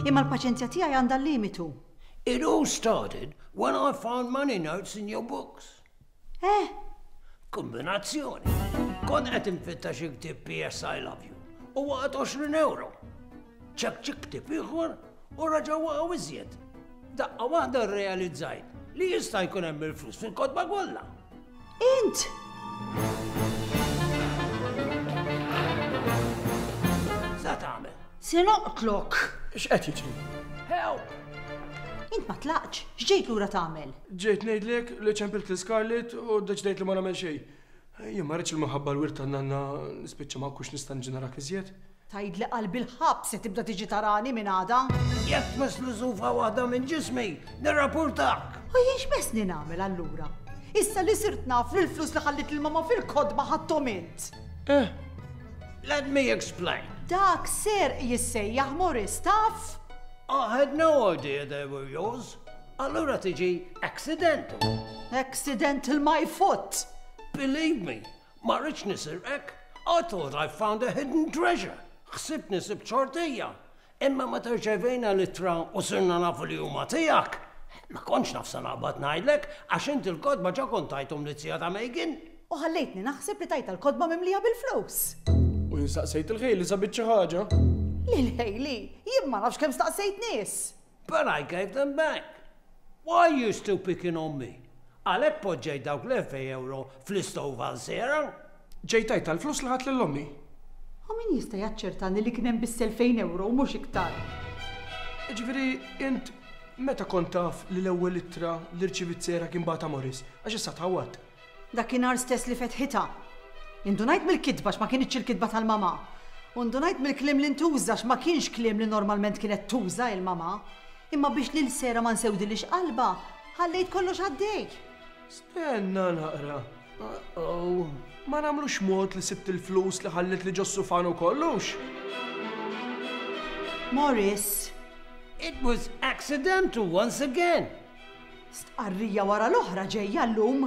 Imma l-paċenzja tiegħi għandha limitu. It all started when I found money notes in your books. Eh? Kombinazzjoni. Kont qed infittex xi ktieb P S I Love You u waqgħet għoxrin euro. Ċekċikt ktieb ieħor u raġa' waqgħu iżjed. Daqqa waħda rrealizzajt li jista' jkun hemm il-flus fil-kotba kollha. Int! Sa tagħmel? Se noqtlok! X'qed jiġri? Help! Int ma tlaqx, x'ġejt lura tagħmel? Ġejt ngħidlek li ċempilt lil Scarlett u ddeċidejt li ma nagħmel xejn. Jien ma rridx il-minħabba l-wirt tan-nanna nispiċċa ma nkunx nista' niġi narak iżjed. Tgħid li qalbi l-ħabs se tibda tiġi tarani minn għada? Jekk tmisslu żufra waħda minn ġismi, nirrapportak. U jien x'messni nagħmel allura? Issa li sirt naf li l-flus li ħallit il-mama fil-kotba ħadthom int. Eh. Let me explain. Dak serq jissejjaħ, Morris, taf? I had no idea they were yours. Allura tiġi accidental. Accidental my foot. Believe me, ma rridx nisirqek. I thought I found a hidden treasure. Ħsibtni sibt ċortija. Imma meta rċevejna l-ittra u sirna nafu li huma tiegħek. Ma kontx naf sa naqbad ngħidlek għax inti l-kotba ġa kont tajthom liz-zija ta' Megan. U ħallejtni naħseb li tajtha l-kotba mimlija bil-flus. U jien staqsejt lil Hayley sabit xi ħaġa. Lil Hayley, jien ma nafx kemm staqsejt nies. But I gave them back. Why are you still picking on me? Għalhekk poġġejt dawk l-elfejn euro fl-istove għal Sera? Ġejt tgħid tal-flus li ħadt lil ommi. U min jista' jaċċertani li kien hemm biss elfejn euro u mhux iktar? Ġifieri, int meta kont taf li l-ewwel ittra li rċivit Sera kien bagħatha Morris, għax issa tħawwadt. Dakinhar stess li fetħitha. Indunajt mill-kitba ma kienx il-kitba tal-mama. U ndunajt mill-kliem li ntuża ma kienx kliem li normalment kienet tuża il-mama. Imma biex lil Sera ma nsewdilhiex qalbha, ħallejt kollox għaddej. Stenna naqra. Uh-oh. Ma nagħmlux mod li sibt il-flus li ħallit li ġos-sufan u kollox. Morris. It was accidental once again. Stqarrija wara l-oħra ġejja llum.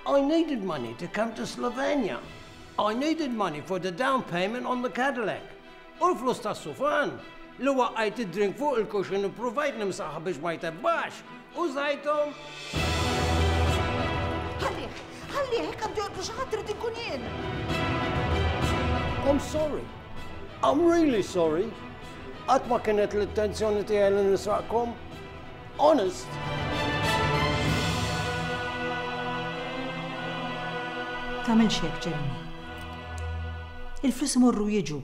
I needed money to come to Slovenia. I needed money for the down payment on the Cadillac. U l-flus tas-sufan li waqqajt id-drink fuq il-cushion u provajt nimsaħha biex ma jtebbax. Użajthom. Ħallih, ħallih, hekk għandu joqtlu xi ħadd irid inkun jien. I'm sorry. I'm really sorry. Qatt ma kienet l-intenzjoni tiegħi li nisraqkom. Honest. Tagħmilx hekk, Jeremy. Il-flus imorru jiġu.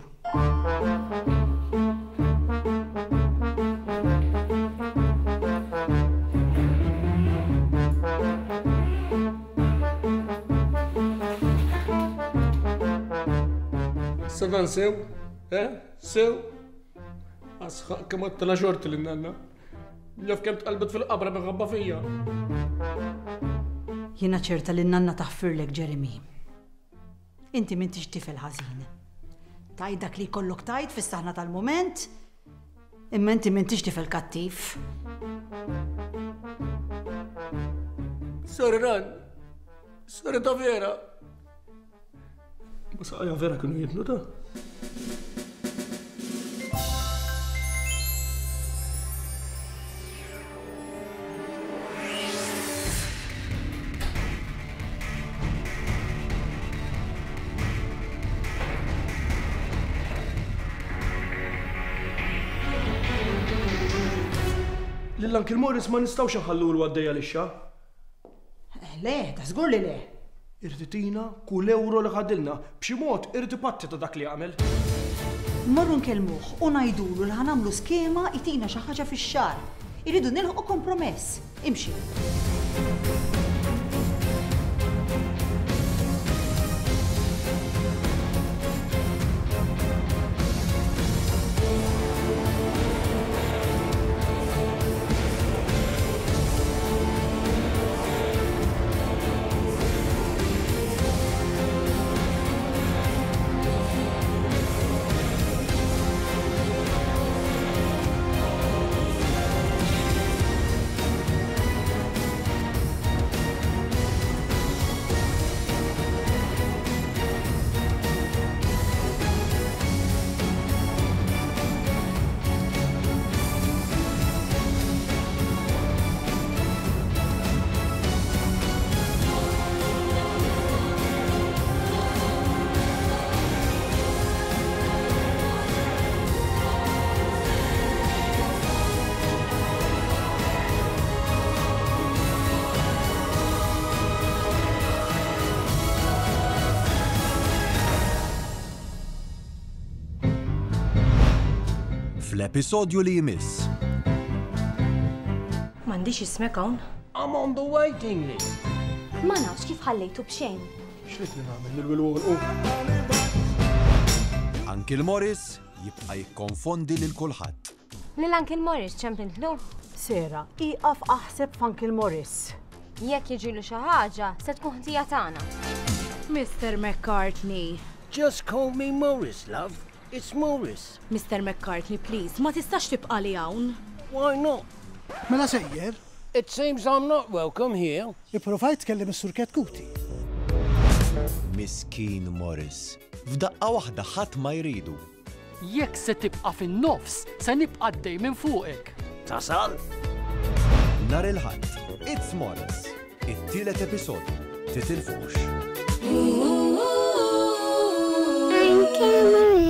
Issa dan sew? Eh? Sew? Asħaq kemm għattela xorti lin-nanna. Naf kemm tqalbet fil-qabra minħabba fija. Jiena ċerta li n-nanna taħfirlek, Jeremy. Inti m'intix tifel ħażin. Tgħid dak li jkollok tgħid fis-saħna tal-mument, imma inti m'intix tifel kattiv. Sorry, Ran. Sorry ta' vera. Ma saqajja vera kienu jitnu ta'. Lil Uncle Morris ma nistgħux nħallulu għaddejja lixxa. Le, ta' żgur li le. Irid itina kull euro li ħadilna, b'xi mod irid ipatti ta' dak li għamel. Morru nkellmuh u ngħidulu li ħanamlu skema itina xi ħaġa fix-xahar. Irridu nilħqu kompromess. Imxi. Fl-episodju li jmiss. M'għandix ismek hawn. I'm on the waiting list. Ma nafx kif ħallejtu b'xejn. X'rid nagħmel nil-wilwol u. Uncle Morris jibqa' jikkonfondi lil kulħadd. Lil Uncle Morris ċempintlu? Sera, ieqaf aħseb f'Uncle Morris. Jekk jiġilu xi ħaġa, se tkun ħtija tagħna. Mister McCartney. Just call me Morris, love. It's Morris. Mister McCartney, please, ma tistax tibqa' li hawn. Why not? Mela sejjer? It seems I'm not welcome here. Ipprovajt tkellem is-Sur Ketkuti. Miskin Morris. F'daqqa waħda ħadd ma jridu. Jekk se tibqa' fin-nofs, se nibqa' għaddej minn fuqek. Tasal? Nhar il-Ħadd, It's Morris. It-tielet episodju. Titilfux. Uncle Morris.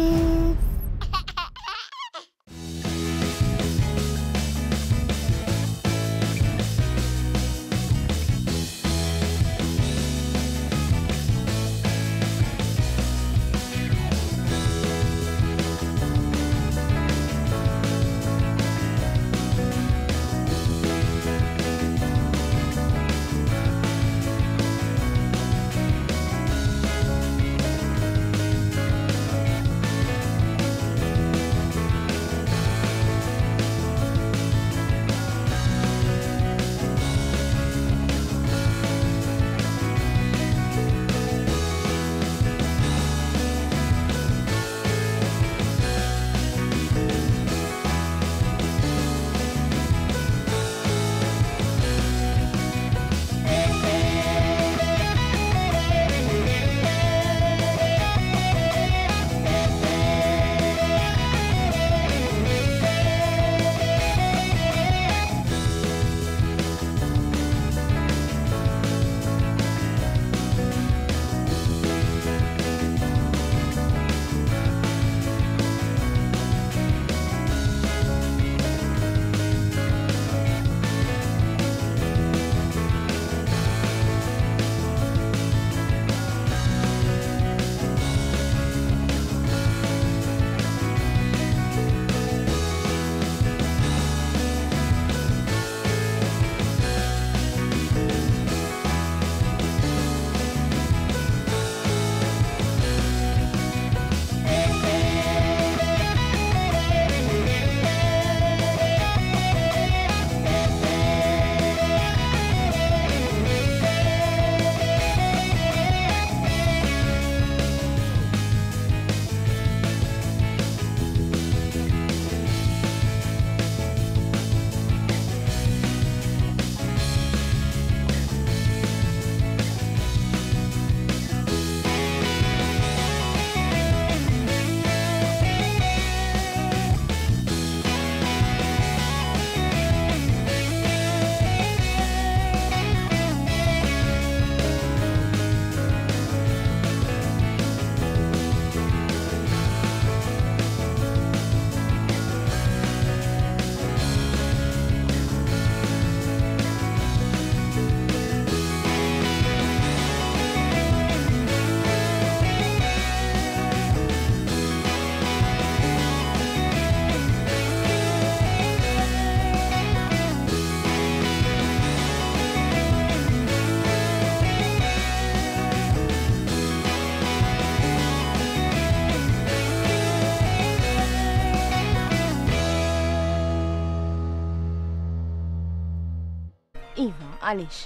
Iva, għaliex?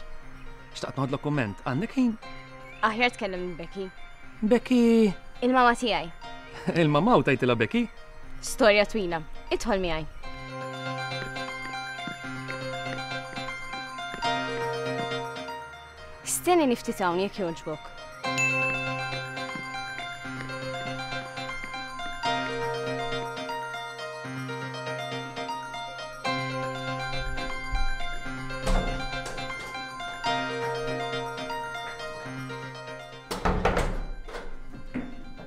Xtaqt noħodlok kumment, għandek ħin? Aħjar tkellem minn Becky. Becky! Il-mama tiegħi. Il-mama u tajtilha Becky? Storja twila. Idħol miegħi. Stenni niftit hawn jekk jogħġbok.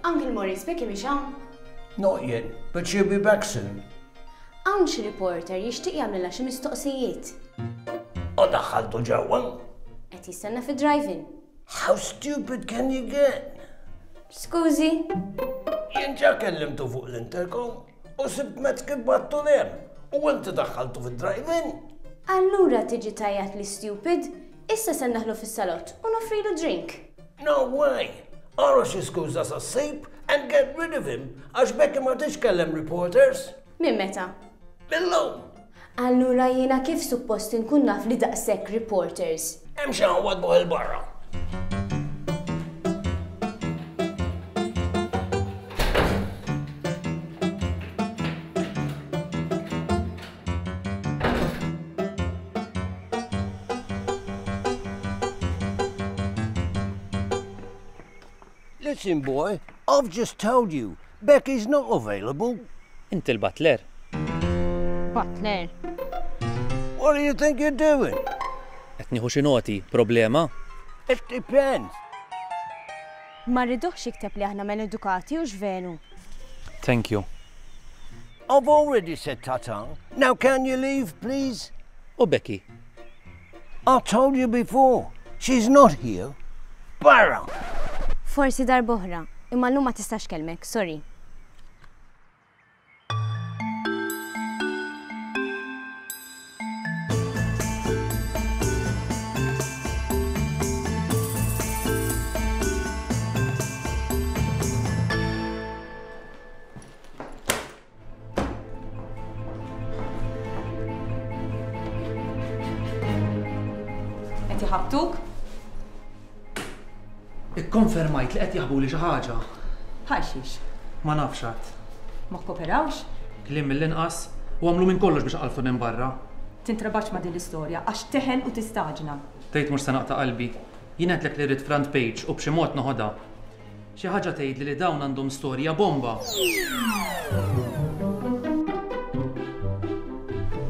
Uncle Morris, Becky mhix hawn? Not yet, but she'll be back soon. Hawn xi reporter jixtieq jagħmlilha xi mistoqsijiet. U daħħaltu ġewwa? Qed jistenna fi drive-in. How stupid can you get? Skużi. Jien ġa kellimtu fuq l-intercom u sibt mezz kif bgħattu 'l hemm u inti daħħaltu fid-drive-in. Allura tiġi tgħajjatli stupid, issa se ndaħlu fis-salott u noffrilu drink. No way! Ara xi skuża sa ssib and get rid of him għax Becky ma tixkellem reporters. Minn meta? Millum. Allura jiena kif suppost inkun naf li daqshekk reporters? Hemm xi wadbuh 'il barra. Listen, boy, I've just told you, Becky's not available. Inti l-butler. Butler? What do you think you're doing? Qed nieħu xi noti, problema? It depends. Ma rriduhx jikteb li aħna maledukati u x'veru. Thank you. I've already said ta-ta. Now can you leave, please? U Becky? I told you before, she's not here. Barra! Forsi darb'oħra, imma llum ma tistax kellmek, sorry. Qed iħabbtuk? Ikkonfermajt li qed jaħbuli xi ħaġa. Bħal xiex? Ma nafx għad. Ma kkoperawx? Kliem mill-inqas u għamlu minn kollox biex qalfu minn barra. Tintrabax ma' din l-istorja għax teħel u tistaġna. Tgħid mhux se naqta' qalbi. Jien għedtlek li rrid front page u b'xi mod noħodha. Xi ħaġa tgħidli li dawn għandhom storja bomba.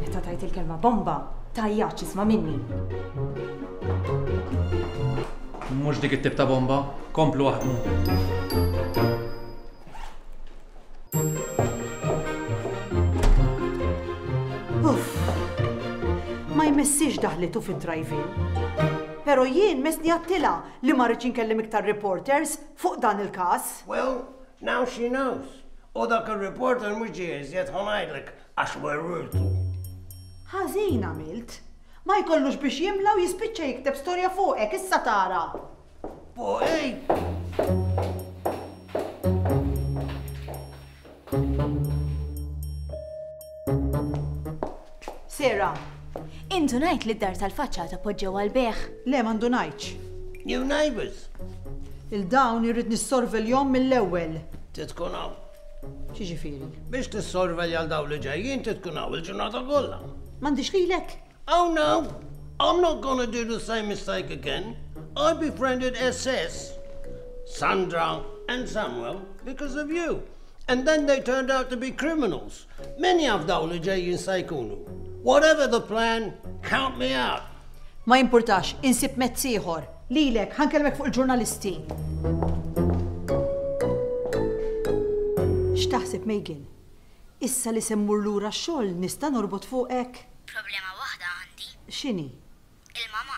Meta tgħid il-kelma bomba, tgħajjatx isma' minni. Mhux dik it-tip ta' bomba, komplu aħdmu. Uff, ma jmessix daħlitu fid-drive-in. Pero jien messni għedtilha li ma rridx inkellem iktar reporters fuq dan il-każ. Well, now she knows. U dak il-reporter mhux ġie iżjed ħa ngħidlek għax werwirtu. Ħażin għamilt. Ma jkollux biex jimla u jispiċċa jikteb storja fuqek, issa tara. Fuqi? Sarah. Indunajt li d-dar tal-faċċata poġġew għal-bejgħ. Le, ma ndunajtx. New neighbors. Il-dawn irrid nissorveljhom mill-ewwel. Titkun hawn. X'jiġifieri? Biex tissorvelja għal dawn li ġejjin titkun hawn il-ġurnata kollha. M'għandix lilek? Oh no, I'm not gonna do the same mistake again. I befriended S S, Sandra and Samuel, because of you. And then they turned out to be criminals. Many of dawn li ġejjin se jkunu. Whatever the plan, count me out. Ma jimpurtax, insib mezz ieħor. Lilek, ħa nkellmek fuq il-ġurnalisti. X'taħseb, Megan? Issa li se mmur lura x-xogħol nista' norbot fuqek? Problema waħda għandi. X'inhi? Il-mama.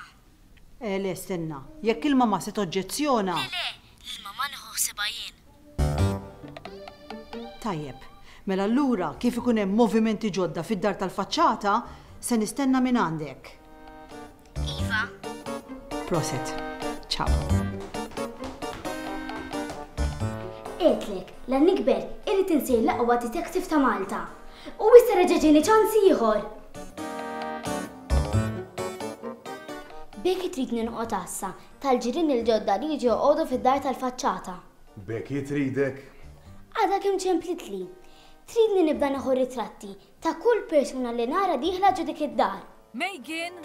Eh, le, stenna. Jekk il-mama se toġġezzjona. Le, le, il-mama nieħu ħsiebha jien. Tajjeb, mela allura kif ikun hemm movimenti ġodda fid-dar tal-faċċata, se nistenna minn għandek. Iva. Prosit. Ciao. Għedtlek, la nikber, irrid insir l-aqwa detective ta' Malta. U issa reġa' ġieni ċans ieħor. Becky tridni noqgħod għassa tal-ġirien il-ġodda li jiġu joqogħdu fid-dar tal-faċċata. Becky tridek? Għadha kemm ċemplitli. Tridni nibda nieħu ritratti ta' kull persuna li nara dieħla ġo dik id-dar. Megan!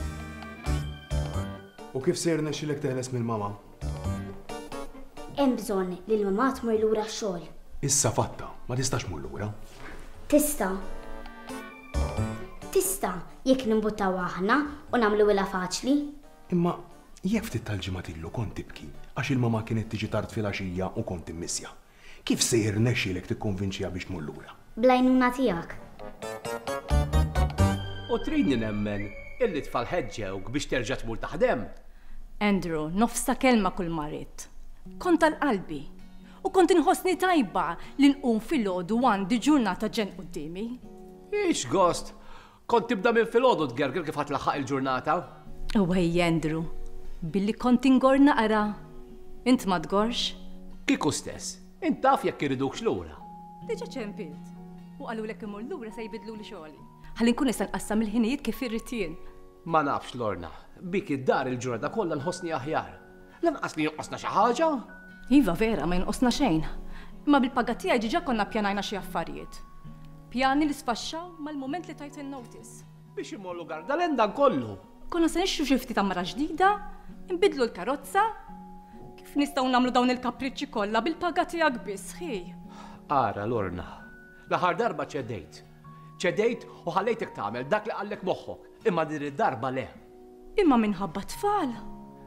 U kif se jirnexxilek teħles mill-mama? Hemm bżonn li l-mama tmur lura x-xogħol. Issa fatta, ma tistax tmur lura. Tista'. Tista' jekk nimbuttaw aħna u nagħmluhilha faċli. Imma jekk ftit tal-ġimgħat ilu kont tibki għax il-mama kienet tiġi tard filgħaxija u kont immissja. Kif se jirnexxilek tikkonvinċiha biex tmur lura? Bl-għajnuna tiegħek. U tridni nemmen illi tfal ħeġġewk biex terġa' tmur taħdem? Andrew, nofs ta' kelma kull ma ridt. Kont tal-qalbi u kont inħossni tajba li nqum filgħodu għandi ġurnata ġen quddiemi. Ix gost! Kont tibda minn filgħodu tgerger kif ħa tlaħħaq il-ġurnata. Wej Andrew, billi kont ingor naqra. Int ma tgorx? Kieku stess, int taf jekk iridukx lura. Diġà ċempilt. U qalulek imur lura se jbidluli xogħli. Ħalli nkun nista' nqassam il-ħinijiet kif irrid jien. Ma nafx Lorna, bik id-dar il-ġurnata kollha nħossni aħjar. Lanqas li jonqosna xi ħaġa. Iva vera, ma jonqosna xejn. Imma bil-paga tiegħi diġà konna ppjanajna xi affarijiet. Pjani li sfaxxaw mal-mument li tajt il-notice. Biex imorru Gardalen dan kollu. Konna se nixtru xi ftit għamara ġdida, nbidlu l-karozza. Kif nistgħu nagħmlu dawn il-kapriċċi kollha bil-paga tiegħek biss, ħi? Ara Lorna, l-aħħar darba ċedejt. Ċedejt u ħallejtek tagħmel dak li qallek moħħok, imma din id-darba le. Imma minħabba tfal.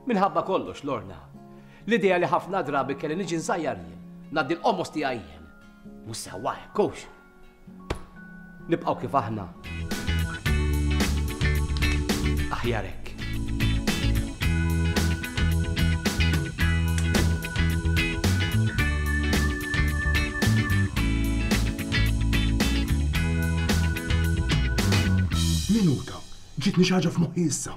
Minħabba kollox, Lorna. L-idea li ħafna drabi kelli niġi nsajjar jien, ngħaddi l-qomos tiegħi jien. Mhux sewwa hekk hux. Nibqgħu kif aħna. Aħjar hekk. Minuta, ġitni xi ħaġa f'moħħi issa.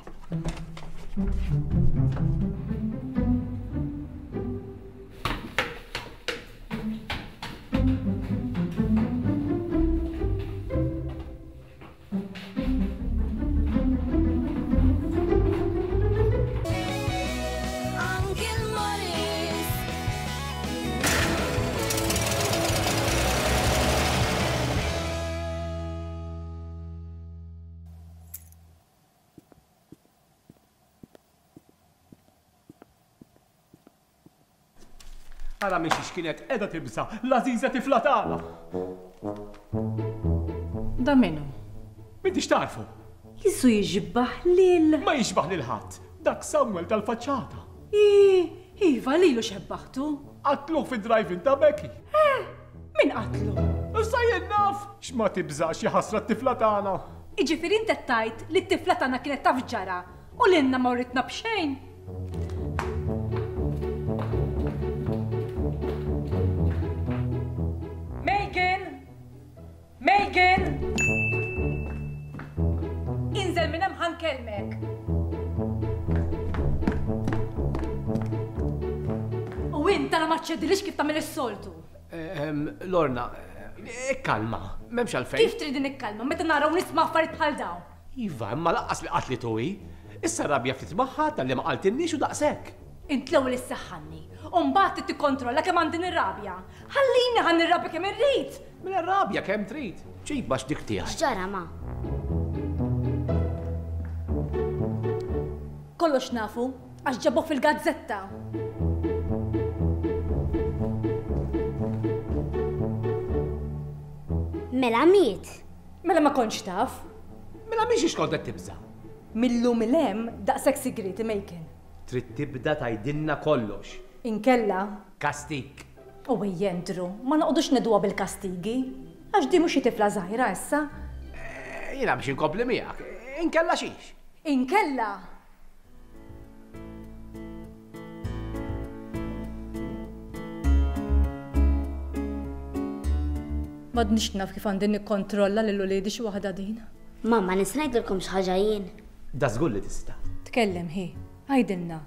Uncle Morris. Ara minn xiex kienet qiegħda tibża' l-għażiża tifla tagħna. Da minnu? M'intix tarfu? Jisu jiġbaħ lil. Ma jiġbaħ lil ħadd. Dak Samuel tal-faċċata. Iva, lilu xebbaħtu. Qatluh fid-drive-in ta' Becky. Eh, min qatlu? Issa jien naf x'ma tibżax xi ħasra t-tifla tagħna. Jiġifieri int qed tgħid li t-tifla tagħna kienet taf ġara u lilna ma writna b'xejn. Megan! Megan! Inżel minn hemm ħa nkellmek. U int tara ma ċċedilix kif tagħmel is-soltu. Lorna, ikkalma, m'hemmx għalfejn. Kif trid nikkalma meta naraw nisma' affarijiet bħal dawn? Iva, imma laqqas li qatlitu hi. Issa rabja ftit magħha talli ma qaltilniex u daqshekk. Int l-ewwel issaħħanni, u mbagħad trid tikkontrolla kemm għandi nirrabja. Ħallini ħa nirrabja kemm irrid. Mela rabja kemm trid. Ġib għax dik tiegħi. X'ġara ma? Kollox nafu, għax ġabuh fil-gazzetta. Mela miet. Mela ma kontx taf. Mela mhix kont qed tibża'. Millum il-hemm daqshekk sigriti Megan. Trid tibda tgħidilna kollox. Inkella? Kastik. U ej Andrew, ma noqogħdux nedwa bil-kastigi. Għax di mhux xi tifla żgħira issa. Jiena biex inkompli miegħek. Inkella xiex? Inkella? M'għadniex naf kif għandi nikkontrolla lil uliedi xi waħda din. Mamma, nista' ngħidilkom xi ħaġa jien. Da żgur li tista'. Tkellem hi, għidilna.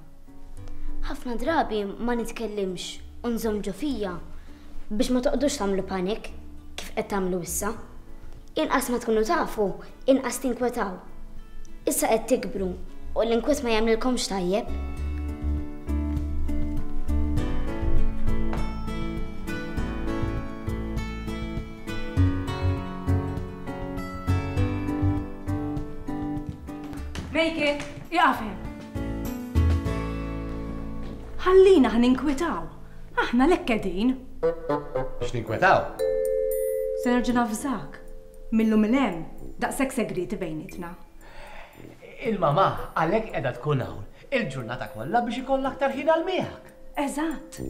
Ħafna drabi ma nitkellimx u nżomm ġo fija biex ma toqgħodux tagħmlu panik kif qed tagħmlu issa. Inqas ma tkunu tafu, inqas tinkwetaw. Issa qed tikbru U l-inkwiet ma jagħmlilkomx tajjeb. Megan, ieqaf hemm. Ħallina ħa ninkwetaw. Aħna lek qegħdin. X'ninkwetaw? Se nerġa' navżak. Millum 'il hemm daqshekk segreti bejnietna. Il-mamà għalhekk qiegħda tkun hawn il-ġurnata kollha biex ikollha aktar ħin għal miegħek. Eżatt.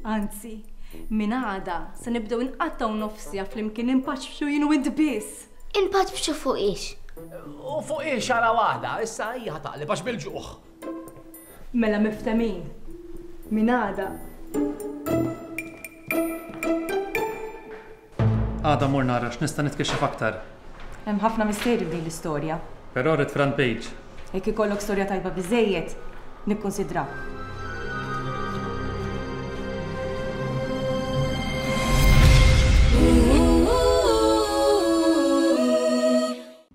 Anzi, minn għada se nibdew inqattgħu nofsija flimkien inpaċbxu jien u int biss. Inpaċbxu fuq ix? U fuq ix għala waħda, issa hija taqleb għax bil-ġuħ. Mela miftemin. Minn għada. Għada mur nara x'nista' nitkixxef aktar. Hemm ħafna misteri f'din l-istorja. Però rrid front page. Jekk ikollok storja tajba biżejjed, nikkonsidra.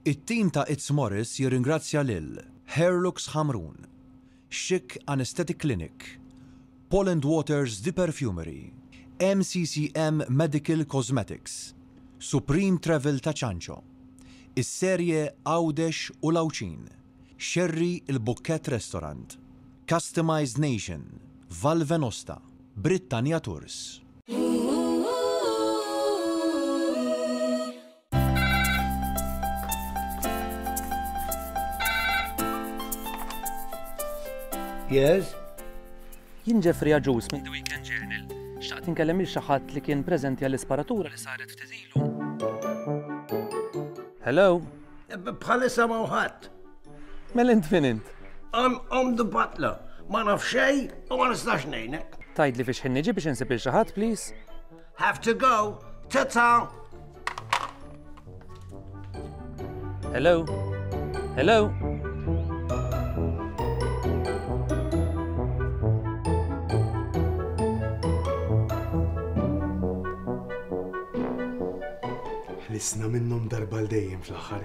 It-tim ta' It's Morris jirringrazzja lil Hairlux Ħamrun, Chic Anesthetic Clinic, Poland Waters The Perfumery, M C C M Medical Cosmetics, Supreme Travel ta' Ċanċo, is-serje Għawdex u Lawċin, Sherry il-Bukket Restaurant, Customized Nation, Val Venosta, Britannia Tours. Yes? Jien Jeffrey Agius minn The Weekend Journal. Xtaqt inkellem il xi ħadd li kien preżenti għall-isparatura li saret ftit ilu. Hello? Bħalissa ma ħadd. Mela int min int? I'm, I'm the butler. Ma naf xejn u ma nistax ngħinek. Tgħidli fiex ħin niġi biex insib il xi ħadd, please? Have to go. Ta-ta. Hello? Hello? Ħlisna minnhom darba l dejjem fl-aħħar.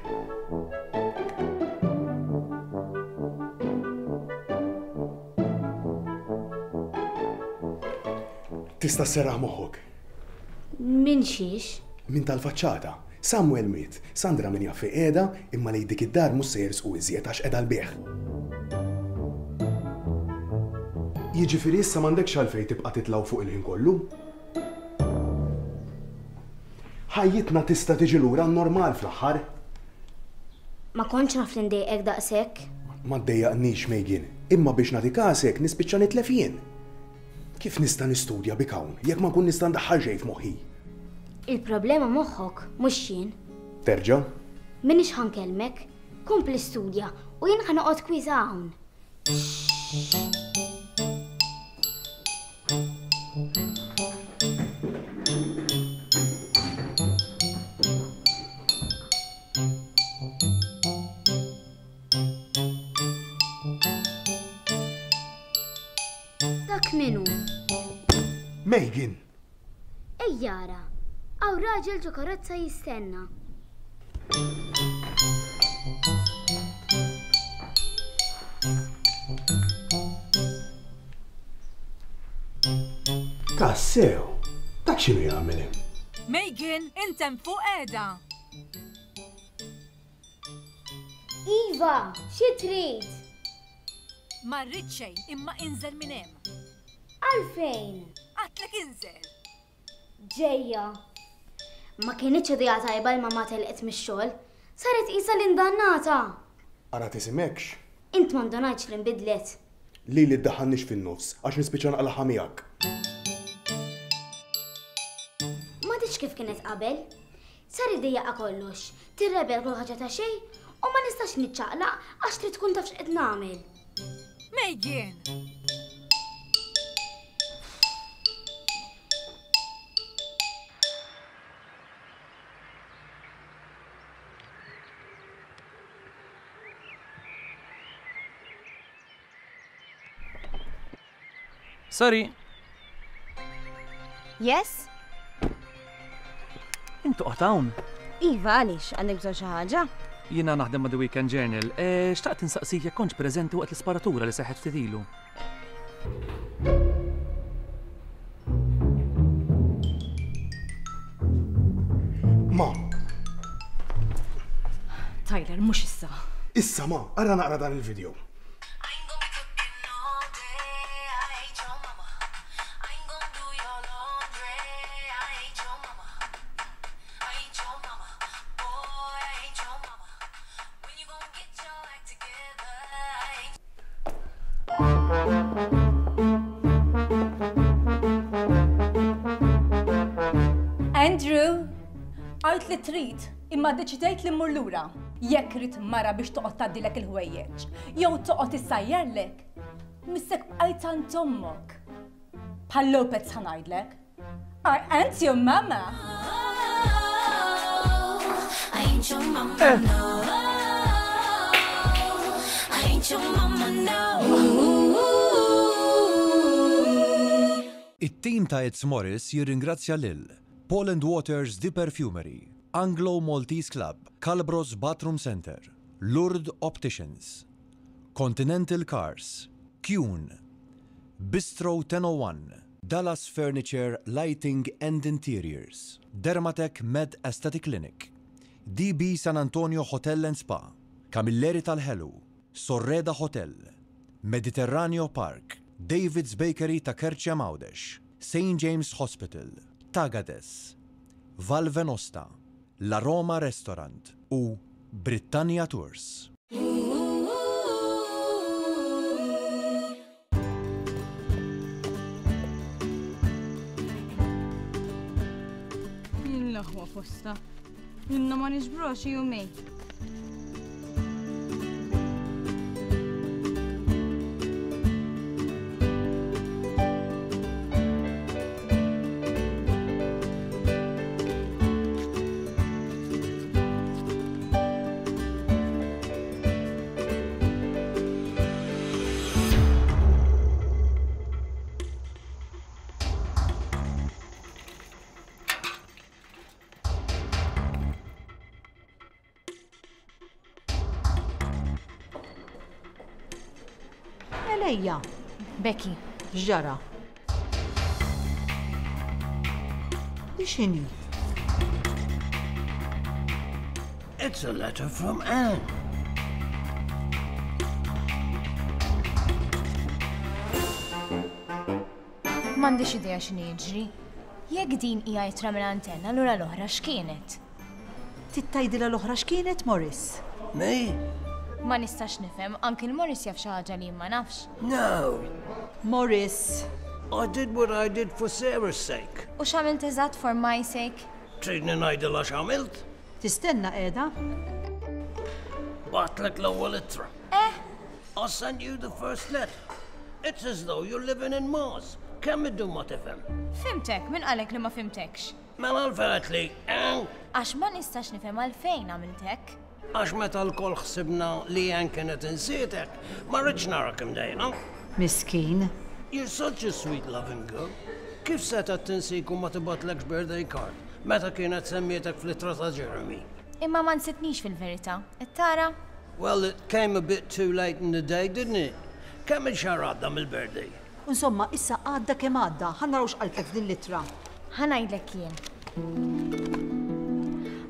Tista' sserraħ moħħok. Min xiex? Min tal-faċċata. Samuel miet, Sandra min jaf qiegħda, imma lejn dik id-dar mhux se jersqu iżjed għax qiegħda l-bieħ. Jiġifieri issa m'għandekx għalfejn tibqa' titlgħu fuq il-ħin kollu. Ħajjitna tista' tiġi lura normal fl-aħħar. Ma kontx naf li ndejqek daqshekk. Ma ddejjaqnix Megan, imma biex nagħti kasek nispiċċa nitlef jien. Kif nista' nistudja bik hawn jekk ma nkun nista' ndaħħal xejn f'moħħi? Il-problema moħħok mhux jien. Terġa'? Minix ħankellmek, kompli studja u jien ħa noqgħod kwiża hawn. Dak min hu? Megan! Ejjara, hawn raġel ġo karozza jistenna. Tassew, dak x'inhu jagħmel hemm? Megan, int hemm fuq qiegħda. Iva, xi trid? Ma rrid xejn, imma inżel minn hemm. Għalfejn? Għadtlek inżel. Ġejja. Ma kienitx idea tajba l-mamà telqet mix-xogħol. Saret qisha l-indannata. Ara tisimekx. Int ma ndunajtx li nbidlet. Lili ddaħħalniex fin-nofs għax nispiċċa naqlaħha miegħek. M'għadix kif kienet qabel. Sar iddejjaqa kollox, tirrebel kull ħaġa ta' xejn u ma nistax niċċaqlaq għax trid tkun taf x'qed nagħmel. Megan! Sorry. Yes? Intu qgħod hawn. Iva, għaliex għandek bżonn xi ħaġa? Jiena naħdem ma' The Weekend Journal. Eh, xtaqt insaqsik jekk kontx preżenti waqt l-isparatura li seħħet ftit ilu. Ma. Tyler, mhux issa. Issa ma, ara naqra dan il-video. Andrew, għajt li trid, imma ddeċidejt li mmur lura. Jekk rid mara biex toqgħod tgħaddilek il-ħwejjeġ, jew toqgħod issajjarlek, missek bqajt għand ommok. Bħal Lopez ħa ngħidlek. I ain't your mama. I ain't your mama, no. I ain't your mama, no. It-tim ta' It's Morris jirringrazzja lil Paul and Waters The Perfumery, Anglo Maltese Club, Calbros Bathroom Center, Lourdes Opticians, Continental Cars, Kuhn, Bistro ten oh one, Dallas Furniture, Lighting and Interiors, Dermatec Med Aesthetic Clinic, D B San Antonio Hotel and Spa, Camilleri Tal-Ħelu, Sorreda Hotel, Mediterraneo Park, David's Bakery ta' Kerċem Għawdex, Saint James Hospital, Tagades, Val Venosta, La Roma Restaurant u Britannia Tours. Jien l-aħwa posta. Inna ma niġbrox jumej. Ejja. Becky. X'ġara? Di x'inhi? It's a letter from Anne. M'għandix idea x'inhi jiġri. Jekk din hija ittra minn antenna, allura l-oħra x'kienet? Tittajdilha l-oħra x'kienet, Morris? Me? Ma nistax nifhem, Uncle Morris jaf xi ħaġa li ma nafx. No. Morris. I did what I did for Sarah's sake. U x'għamilt eżatt for my sake? Tridni ngħidilha x'għamilt? Tistenna qiegħda? Bagħtlek l-ewwel ittra. Eh? I sent you the first letter. It's as though you're living in Mars. Kemm iddum ma tifhem? Fimtek, min qalek li ma fimtekx? Mela għalfejn li, eh? Għax ma nistax nifhem għalfejn għamilt hekk. Għax meta l-kol ħsibna li Ann kienet insietek, ma rridx narak imdejna. Miskin. You're such a sweet loving girl. Kif setgħet tinsik u ma tibgħatlekx birthday card meta kienet semmietek fl-ittra ta' Jeremy? Imma ma nsitnix fil-verità. Qed tara? Well, it came a bit too late in the day, didn't it? Kemm il-xahar għadda mill-birthday? Insomma, issa għadda kemm għadda, ħa naraw x'qaltlek f'din l-ittra. Ħa ngħidlek jien.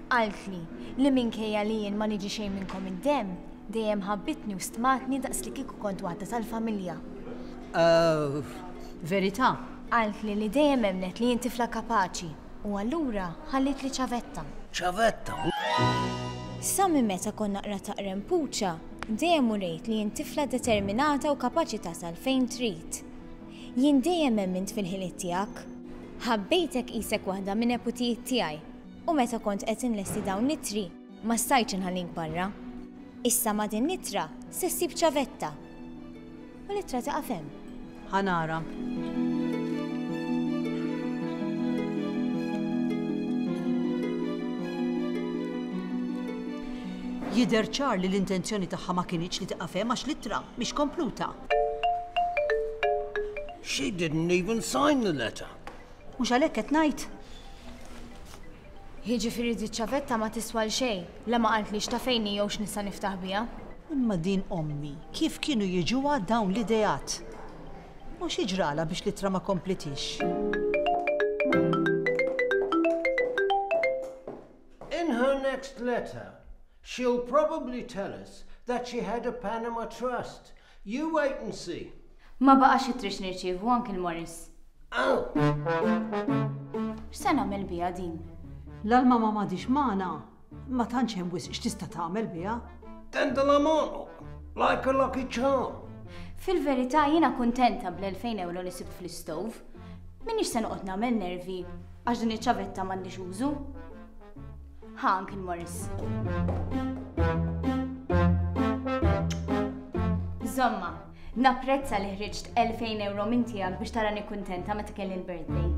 Qaltli li minkejja li jien ma niġi xejn minnkom id-demm, dejjem ħabbitni u stmatni daqs li kieku kont waħda tal-familja. Oh. Verità. Qaltli li dejjem emnet li jien tifla kapaċi u allura ħallit li ċavetta. Ċavetta? Sa minn meta konna naqra taqrem puċa, dejjem urejt li jien tifla determinata u kapaċi tasal fejn trid. Jien dejjem emmint fil-ħiliet tiegħek. Ħabbejtek qisek waħda minn neputijiet tiegħi u meta kont qed inlesti dawn l-ittri ma stajtx inħallink barra. Issa ma' din l-ittra se ssib ċavetta. U l-ittra tieqaf hemm. Ħa nara. Jidher ċar li l-intenzjoni tagħha ma kinitx li tieqaf hemm għax l-ittra mhix kompluta. She didn't even sign the letter. Mhux għalhekk qed ngħid. Jiġifieri di ċavetta ma tiswa l xejn, la ma qaltlix ta' fejn hi jew x'nista' niftaħ biha. Imma din ommi, kif kienu jiġuha dawn l-ideat? U xi ġralha biex l-ittra ma komplitix? In her next letter, she'll probably tell us that she had a Panama Trust. You wait and see. Ma baqax itrix nirċievu Uncle Morris. Oh! X'se nagħmel biha din? La l-mama m'għadix magħna, ma tantx hemm wisq x'tista' tagħmel biha. Tendela like a lucky charm. Fil-verità jiena kuntenta bl-elfejn euro li sibt fl-istove. Minix se noqgħod nagħmel nervi għax din iċ-ċavetta m'għandix użu. Ha, Uncle Morris. Żomma, napprezza li ħriġt elfejn euro minn tiegħek biex tarani kuntenta meta kelli l-birthday.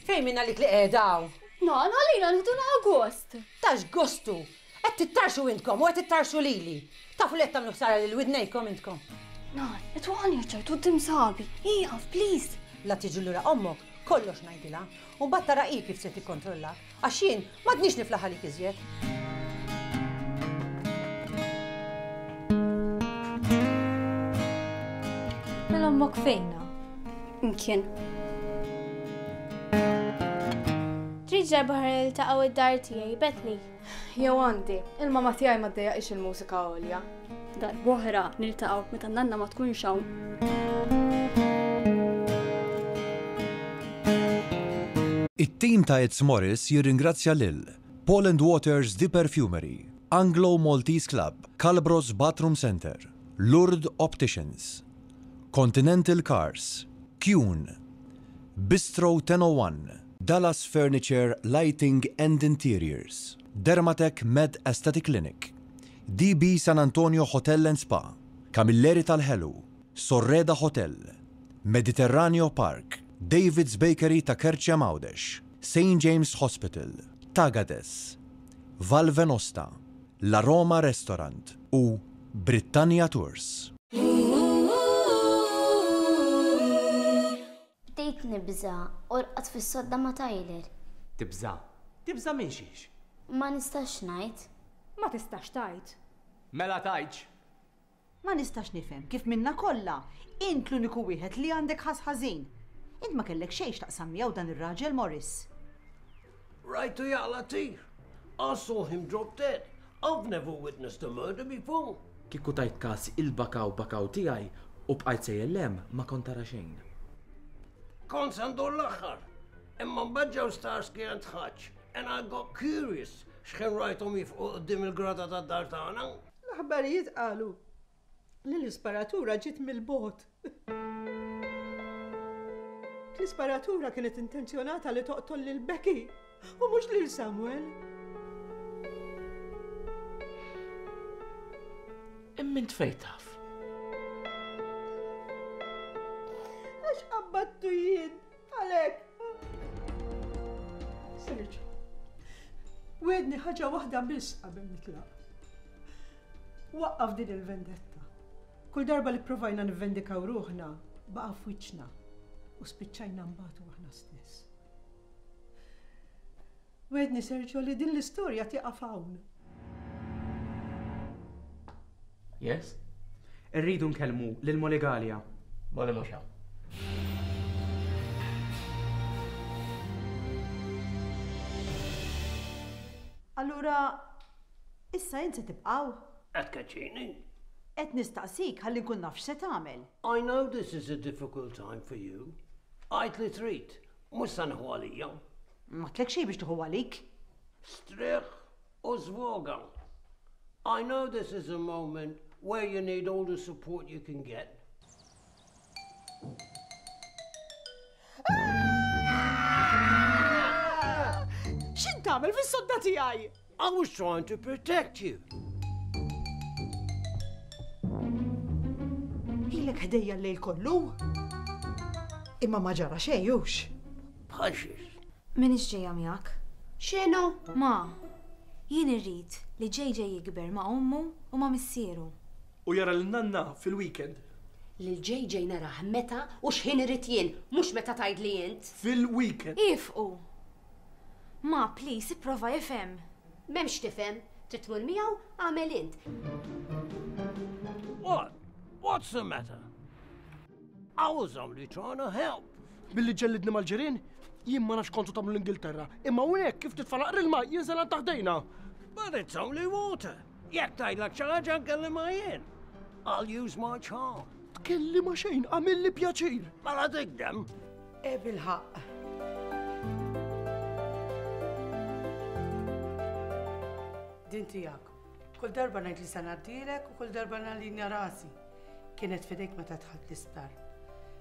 Fejn minna li qiegħda? Nan, għalina nħdu gost. Tax gostu! Qed tittarxu intkom u qed tittarxu lili. Tafu li qed tagħmlu ħsara lil widnejkom intkom. Nan, qed waqani ċertu quddiem sabi. Ieqaf, please. La tiġi lura ommok, kollox ngħidilha. U mbagħad tara hi kif se tikkontrollak. Għax jien m'għadniex niflaħ għalik iżjed. Mela ommok fejna? Imkien. Trid darba ħa niltaqgħu id-dar tiegħi, Bethany. Jew għandi, il-mama tiegħi ma ddejjaqx il-mużika għolja. Darb'oħra niltaqgħu meta nanna ma tkunx hawn. It-tim ta' It's Morris jirringrazzja lil Paul and Waters The Perfumery, Anglo Maltese Club, Calbros Bathroom Center, Lourdes Opticians, Continental Cars, Kuhn, Bistro ten oh one, Dallas Furniture, Lighting and Interiors, Dermatec Med Aesthetic Clinic, D B San Antonio Hotel and Spa, Camilleri Tal-Ħelu, Sorreda Hotel, Mediterraneo Park, David's Bakery ta' Kerċem Għawdex, Saint James Hospital, Tagades, Val Venosta, La Roma Restaurant u Britannia Tours. Bdejt nibża' u rqadt fis-sodda ma' Tyler. Tibża'? Tibża' minn xiex? Ma nistax ngħid. Ma tistax tgħid. Mela tgħidx. Ma nistax nifhem kif minna kollha int l-uniku wieħed li għandek ħas ħażin. Int ma kellek xejn x'taqsam miegħu dan ir-raġel Morris. Rajtu jaqla' tir. I saw him drop dead. I've never witnessed a murder before. Kieku tajt każ il-bakaw bakaw tiegħi u bqajt sejjer lem ma kont tara xejn. Kont se ndur l-aħħar. Imma mbagħad ġew Starsky and Hutch and I got curious x'kien rajthom jifqu quddiem il-grada tad-dar tagħna. L-aħbarijiet qalu li l-isparatura ġiet mill-bogħod. L-isparatura kienet intenzjonata li toqtol lil Becky u mhux lil Samuel. Imma int fejn taf? Għax qabbattu jien għalhekk. Sergio, wedni ħaġa waħda biss qabel nitlaq. Waqqaf din il-vendetta. Kull darba li provajna nivvendikaw ruħna, baqa' f'wiċċna u spiċċajna mbagħad aħna stess. Wedni Sergio li din l-istorja tieqaf hawn. Yes? Irridu nkellmu lil Molly Galea. Molly mhux hawn. Allura, Issa int se tibqgħu? Qed tkeċċini. Qed nistaqsik ħalli nkun naf x'se tagħmel. I know this is a difficult time for you. Għid li trid, mhux se nieħu għalija. M'għedtlek xejn biex tieħu għalik. Strieħ u żvoga. I know this is a moment where you need all the support you can get. X'int tagħmel fis-sodda tiegħi? I was trying to protect you. Ilek ħdejja l-lejl kollu? Imma ma ġara xejn hux. Bħal xiex. M'iniex ġejja miegħek. X'inhu? Ma, jien irrid li J J jikber ma' ommu u ma' missieru. U jara l-nanna fil-weekend. Lil J J narah meta u x'ħin irid jien, mhux meta tgħidli int. Fil-weekend. Ifqu. Ma, please, ipprova ifhem. M'hemmx tifhem, trid tmur miegħu agħmel int. What? What's the matter? I was only trying to help. Billi ġellidni mal-ġirien, jien ma nafx kontu tagħmlu l-Ingilterra. Imma hawnhekk kif titfa' naqra ilma jinżel għand taħdejna. But it's only water. Jekk tgħidlek xi ħaġa nkellimha jien. I'll use my charm. Tkellimha xejn, għamilli pjaċir. Mela tigdem. E bil-ħaqq. Din tiegħek. Kull darba ngħid li se ngħaddilek u kull darba nallinja rasi. Kienet f'idejk meta dħalt l-isptar.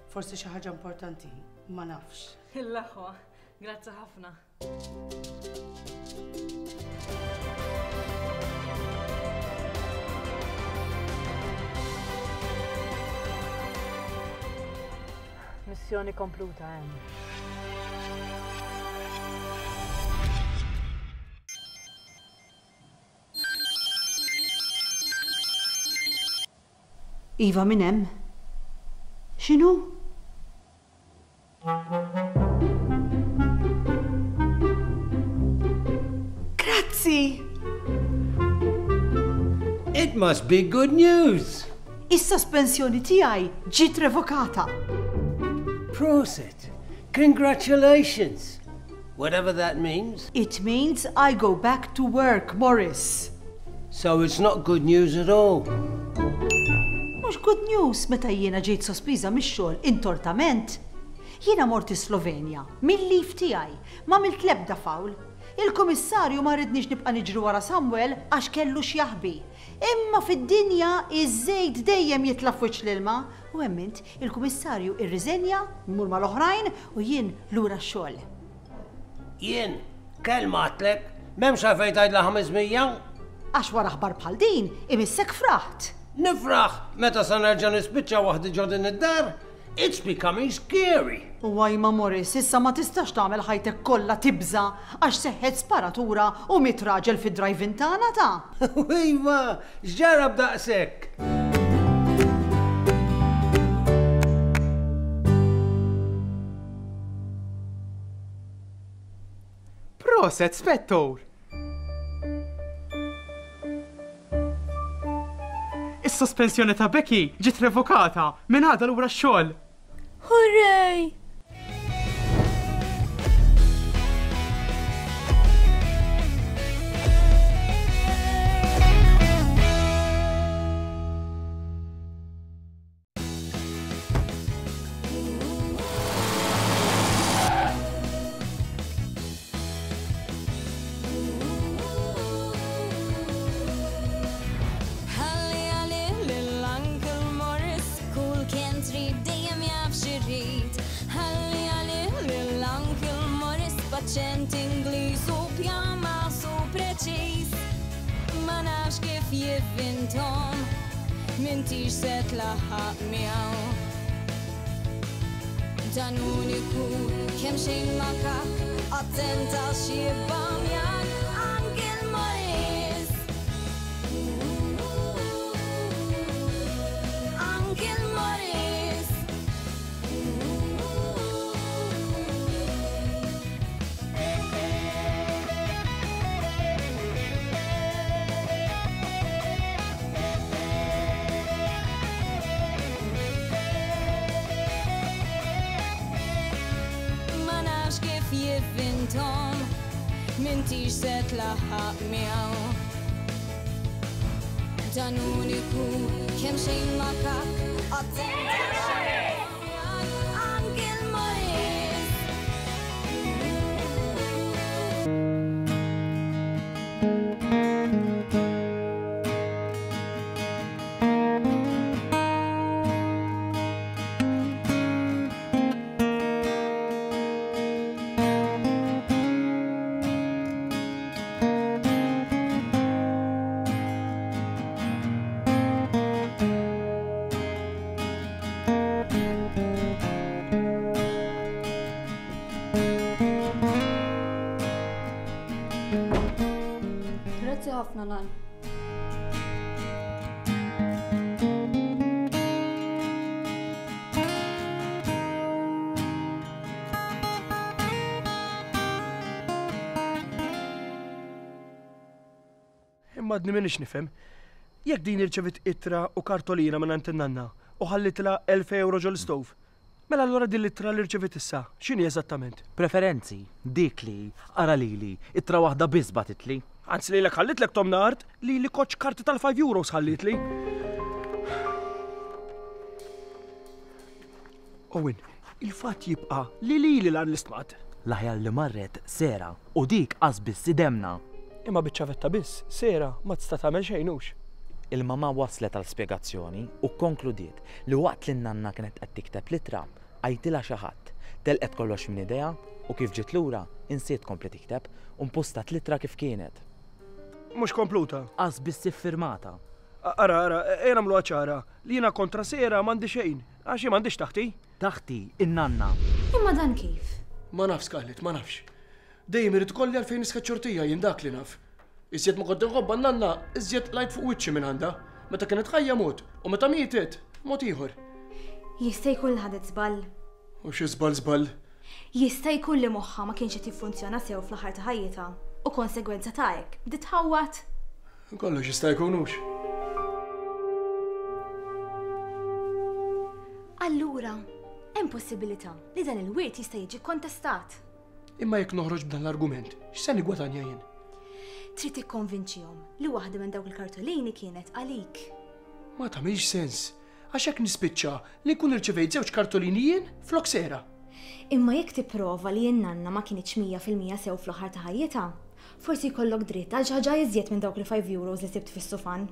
Forsi xi ħaġa importanti, ma nafx. L-aħwa, grazzi ħafna. Missjoni kompluta hemm. Iva, min hemm? X'inhu? Grazzi! It must be good news. Is-sospensjoni tiegħi ġiet revokata. Prosit. Congratulations. Whatever that means. It means I go back to work, Morris. So it's not good news at all. Mhux good news meta jiena ġejt sospiża mix-xogħol intortament. Jiena mort Slovenja, mill-leave tiegħi, m'għamilt l-ebda fawl. Il-kummissarju ma ridniex nibqa' niġri wara Samuel għax kellu x'jaħbi. Imma fid-dinja iż-żejt dejjem jitla' f'wiċċ l-ilma u emmint il-kummissarju irriżenja, mmur mal-oħrajn u jien lura x-xogħol. Jien, kelma għedtlek, m'hemmx għalfejn tgħidla ħames mija. Għax wara aħbar bħal din imissek fraħt. Nifraħ meta sa nerġa' nispiċċa waħdi ġo din id-dar. It's becoming scary. U ma Morris, issa ma tistax tagħmel ħajtek kollha tibża għax seħħet sparatura u miet raġel fid-drive-in tagħna ta'. Iva, x'ġara b'daqshekk? Proset, Spettur! Is-sospensjoni ta' Becky ġiet revokata, minn għada lura x-xogħol. Hooray! Ħalli għalih lil Uncle Morris, kull kien trid dejjem jaf x'irid. Ħalli għalih lil Uncle Morris, b'aċċent Ingliż u pjama su preċiż. Ma nafx kif jivvintom, m'intix se tlaħħaq miegħu. Dan uniku, kemm xejn makak, attenta x'jibbamjak, Uncle Morris. Uncle Morris. Ma nafx kif jivvintom, m'intix se tlaħħaq miegħu. Sultan uniku, kemm xejn makak, attenti Uncle Morris. Grazzi ħafna nan. Imma għadni minix nifhem. Jekk din irċevit ittra u kartolina minn għand in-nanna u ħallitilha elf euro ġol-istove, mela allura din l-ittra li rċevit issa, x'inhi eżattament? Preferenzi, dik li, ara lili, ittra waħda biss bagħtitli. Anzi lilek ħallitlek tomna art li li koċ karti tal-five euros ħallitli. Owen, il-fatt jibqa' li lili l l-istmat. L-aħjar li marret Sera u dik qas biss idemna. Imma biċ-ċavetta biss, Sera ma tista' tagħmel xejn hux. Il-mamà waslet għal spjegazzjoni u kkonkludiet li waqt li n-nanna kienet qed tikteb l-ittra, għajtilha xi ħadd, telqet kollox minn idejha u kif ġiet lura insiet tkompli tikteb u mpustat l-ittra kif kienet. Mhux kompluta. Qas biss iffirmata. Ara, ara, ejja nagħmluha ċara li jiena kontra Sera m'għandi xejn, għax hi m'għandix taħti. Taħti, in-nanna. Imma dan kif? Ma nafx, Scarlett, ma nafx. Dejjem irid ikolli għalfejn niskeċ xortija jien dak li naf. Iżjed ma kont inħobbha n-nanna, iżjed lajt fuq wiċċi minn għandha. Meta kienet ħajja mod, u meta mietet, mod ieħor. Jista' jkun li ħadet żball. U xi żball żball? Jista' jkun li moħħha ma kienx qed jiffunzjona sew fl-aħħar ta' ħajjitha u konsegwenza ta' hekk bdiet tħawwad. Kollox jista' jkun hux. Allura, hemm possibilità li dan il-wirt jista' jiġi kontestat. Imma jekk noħroġ b'dan l-argument, x'se nigwadanja jien? Trid tikkonvinċihom li waħda minn dawk il-kartolini kienet għalik. Ma tagħmilx sens, għax hekk nispiċċa li nkun irċevejt żewġ kartolini jien flok Sera. Imma jekk tipprova li n-nanna ma kienitx mija fil-mija sew fl-aħħar ta' ħajjitha, forsi jkollok dritt għal xi ħaġa iżjed minn dawk il-five euros li sibt fis-sufan.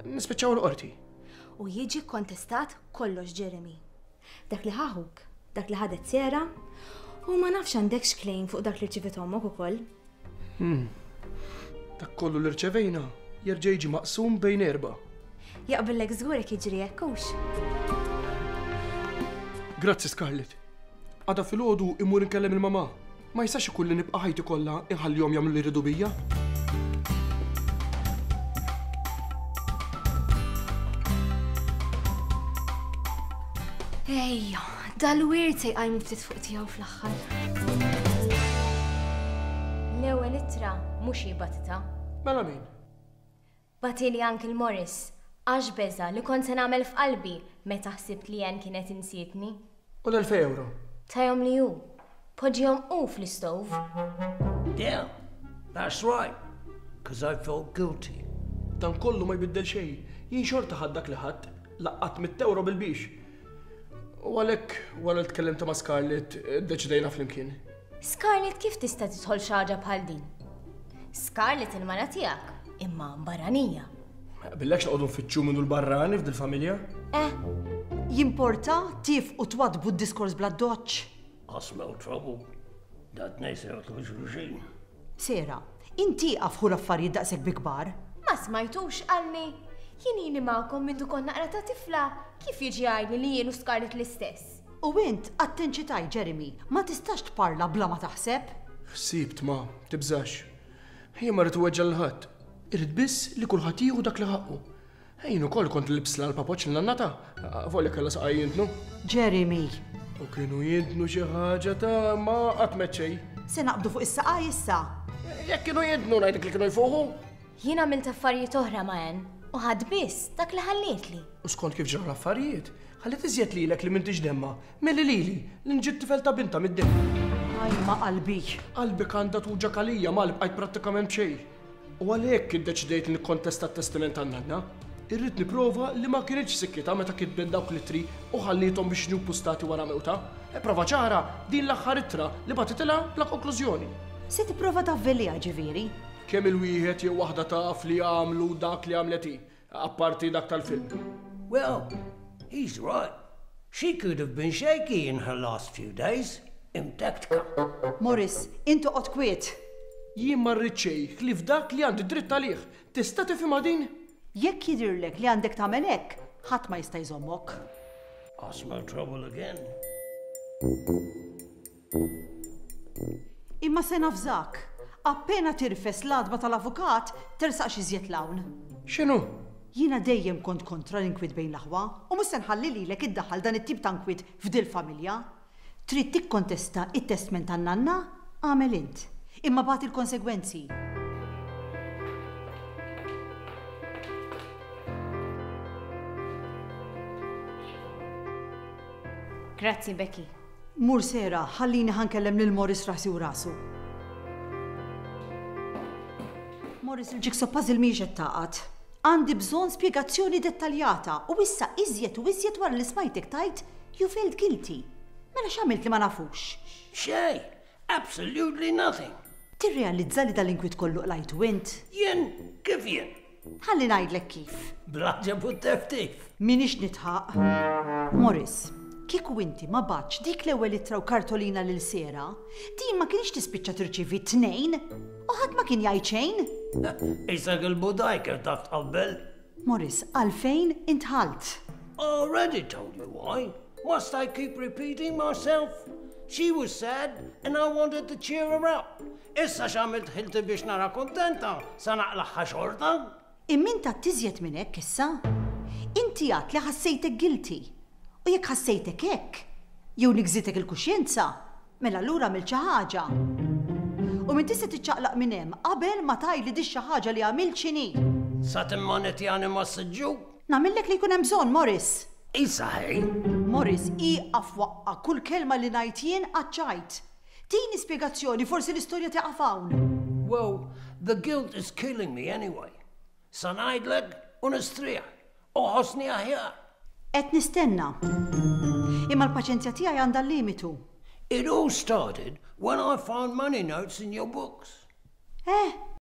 Nispiċċaw l-qorti. U jiġi kontestat kollox, Jeremy. Dak li ħaħuk, dak li ħadet Sera, u ma nafx għandekx claim fuq dak li rċivit ommok ukoll. Hmm. Dak kollu li rċevejna jerġa' jiġi maqsum bejn erba'. Jaqbillek żgur jekk jiġri hekk hux. Grazzi Scarlett. Għada filgħodu immur inkellem il-mamà. Ma jistax ikun li nibqa' ħajti kollha inħallihom jagħmlu li jridu bija. Ejja, dal-wirt se jqajmu ftit fuq tiegħu fl-aħħar. L-ewwel ittra mhux hi batita. Mela min? Batili Uncle Morris, għax beża li kont se nagħmel f'qalbi meta ħsibt li Ann kienet insietni. U l-elfej euro? Tajhom li hu. Poġġihom hu fl-istove. Yeah, that's right. 'Cause I felt guilty. Dan kollu ma jbiddel xejn. Jien xorta ħadd dak li ħadd, laqqat mitt euro bil-biex. U għalhekk wara li tkellimt ma' Scarlett, iddeċidejna flimkien. Scarlett kif tista' tidħol xi ħaġa bħal din? Scarlett il-mara tiegħek, imma barranija. Ma jaqbillekx noqogħdu nfittxu minnu l-barrani f'dil-familja? Eh. Jimporta tif u twadbu d-diskors bla doċċ. I smell trouble. Dat nejsew tluxruxin. Sera, inti għafħu l-affarijiet daqshekk bi kbar. Ma smajtux qalni. Jien ili magħkom minn kont naqra ta' tifla, kif jiġi għajni li jien u Scarlett l-istess? U int attenċitaj, Jeremy, ma tistax tparla bla ma taħseb. Ħsibt ma, tibżax. Jien ma rrid uweġġa' lil ħadd. Irrid biss li kulħadd jieħu dak li ħaqqu. Jien ukoll kont libsla l-papoċ l-nannata, fuq li kellha saqaj jintnu. Jeremy. U kienu jintnu xi ħaġa ta' ma qatt meċċej. Se naqbdu fuq is-saqaj issa. Jekk kienu jintnu ngħidlek li kienu jfuħu. Jien għamilt affarijiet oħra ma' Ann u ħadd biss dak li ħallietli. U skont kif ġraw l-affarijiet, ħalliet iżjed lilek li m'intix demma, milli lili li nġiet tifel ta' binta mid-demm. Aj ma' qalbi. Qalbek għandha tuġa' għalija ma li bqajt prattikament b'xejn. U għalhekk iddeċidejt li nikkontesta t-testament tan-nanna. Irrid nipprova li ma kinitx sikkitha meta kitbet dawk l-ittri u ħalliethom biex jiġu ppustati wara mewtha. E prova ċara din l-aħħar ittra li bagħtitilha bla konklużjoni. Se tipprova tavveliha ġifieri? Kemm il-wieħed jew waħda taf li għamlu dak li għamlet hi, apparti dak tal-film. Well, he's right. She could have been shaky in her last few days. Imtektka. Morris, int oqgħod kwiet. Jien ma rrid xejn ħlief dak li għandi dritt għalih. Tista' tifhimha din? Jekk jidhirlek li għandek tagħmel hekk, ħadd ma jista' jżommok. I smell trouble again. Imma se nafżak, appena tirfes l-għatba tal-avukat, tersaqx iżjed 'l hawn. X'inhu? Jiena dejjem kont kontra l-inkwiet bejn l-aħwa u mhux se nħalli lilek iddaħħal dan it-tip ta' nkwiet f'dil-familja. Trid tikkontesta it-testment tan-nanna? Agħmel int. Imma bati l-konsegwenzi. Grazzi, Becky. Mur Sera, ħallini ħa nkellem lil Morris rasi u rasu. Morris, il-jigsaw puzzle mhijiex qed tagħqad. Għandi bżonn spjegazzjoni dettaljata u issa iżjed u iżjed wara li smajtek tgħid you felt guilty. Mela x'għamilt li ma nafux? Xejn, absolutely nothing. Tirrealizza li dal-inkwiet kollu qlajtu int? Jien, kif jien? Ħalli ngħidlek kif. Bl-għaġeb u t-teftif. M'iniex nidħaq. Morris, kieku inti ma bgħattx dik l-ewwel ittra u kartolina lil Sera, din ma kienx tispiċċa tirċievi tnejn u ħadd ma kien jgħid xejn. Isek il-budaj kif taf tqabbel. Morris, għalfejn intħalt? Already told you why. Must I keep repeating myself? She was sad and I wanted to cheer her up. Issa x'għamilt ħilti biex nara kontenta, sa naqlagħha xorta? Imma int iżjed minn hekk issa. Inti għedt li ħassejtek guilty. U jekk ħassejtek hekk, jew nigżitek il-kuxjenza, mela allura għamilt xi ħaġa. U m'intix se tiċċaqlaq minn hemm qabel ma tgħidli di xi ħaġa li għamilt x'inhi. Sa timmanetjani ma' siġġu? Nagħmillek li jkun hemm bżonn, Morris. Isa ħej. Morris, ieqaf waqqa' kull kelma li ngħid jien għaċ-ċajt. Tini spjegazzjoni, forsi l-istorja tieqaf hawn. Well, the guilt is killing me anyway. Sa ngħidlek u nistrieħ. U ħossni aħjar. Qed nistenna. Imma l-paċenzja tiegħi għandha limitu. It all started when I found money notes in your books. Eh,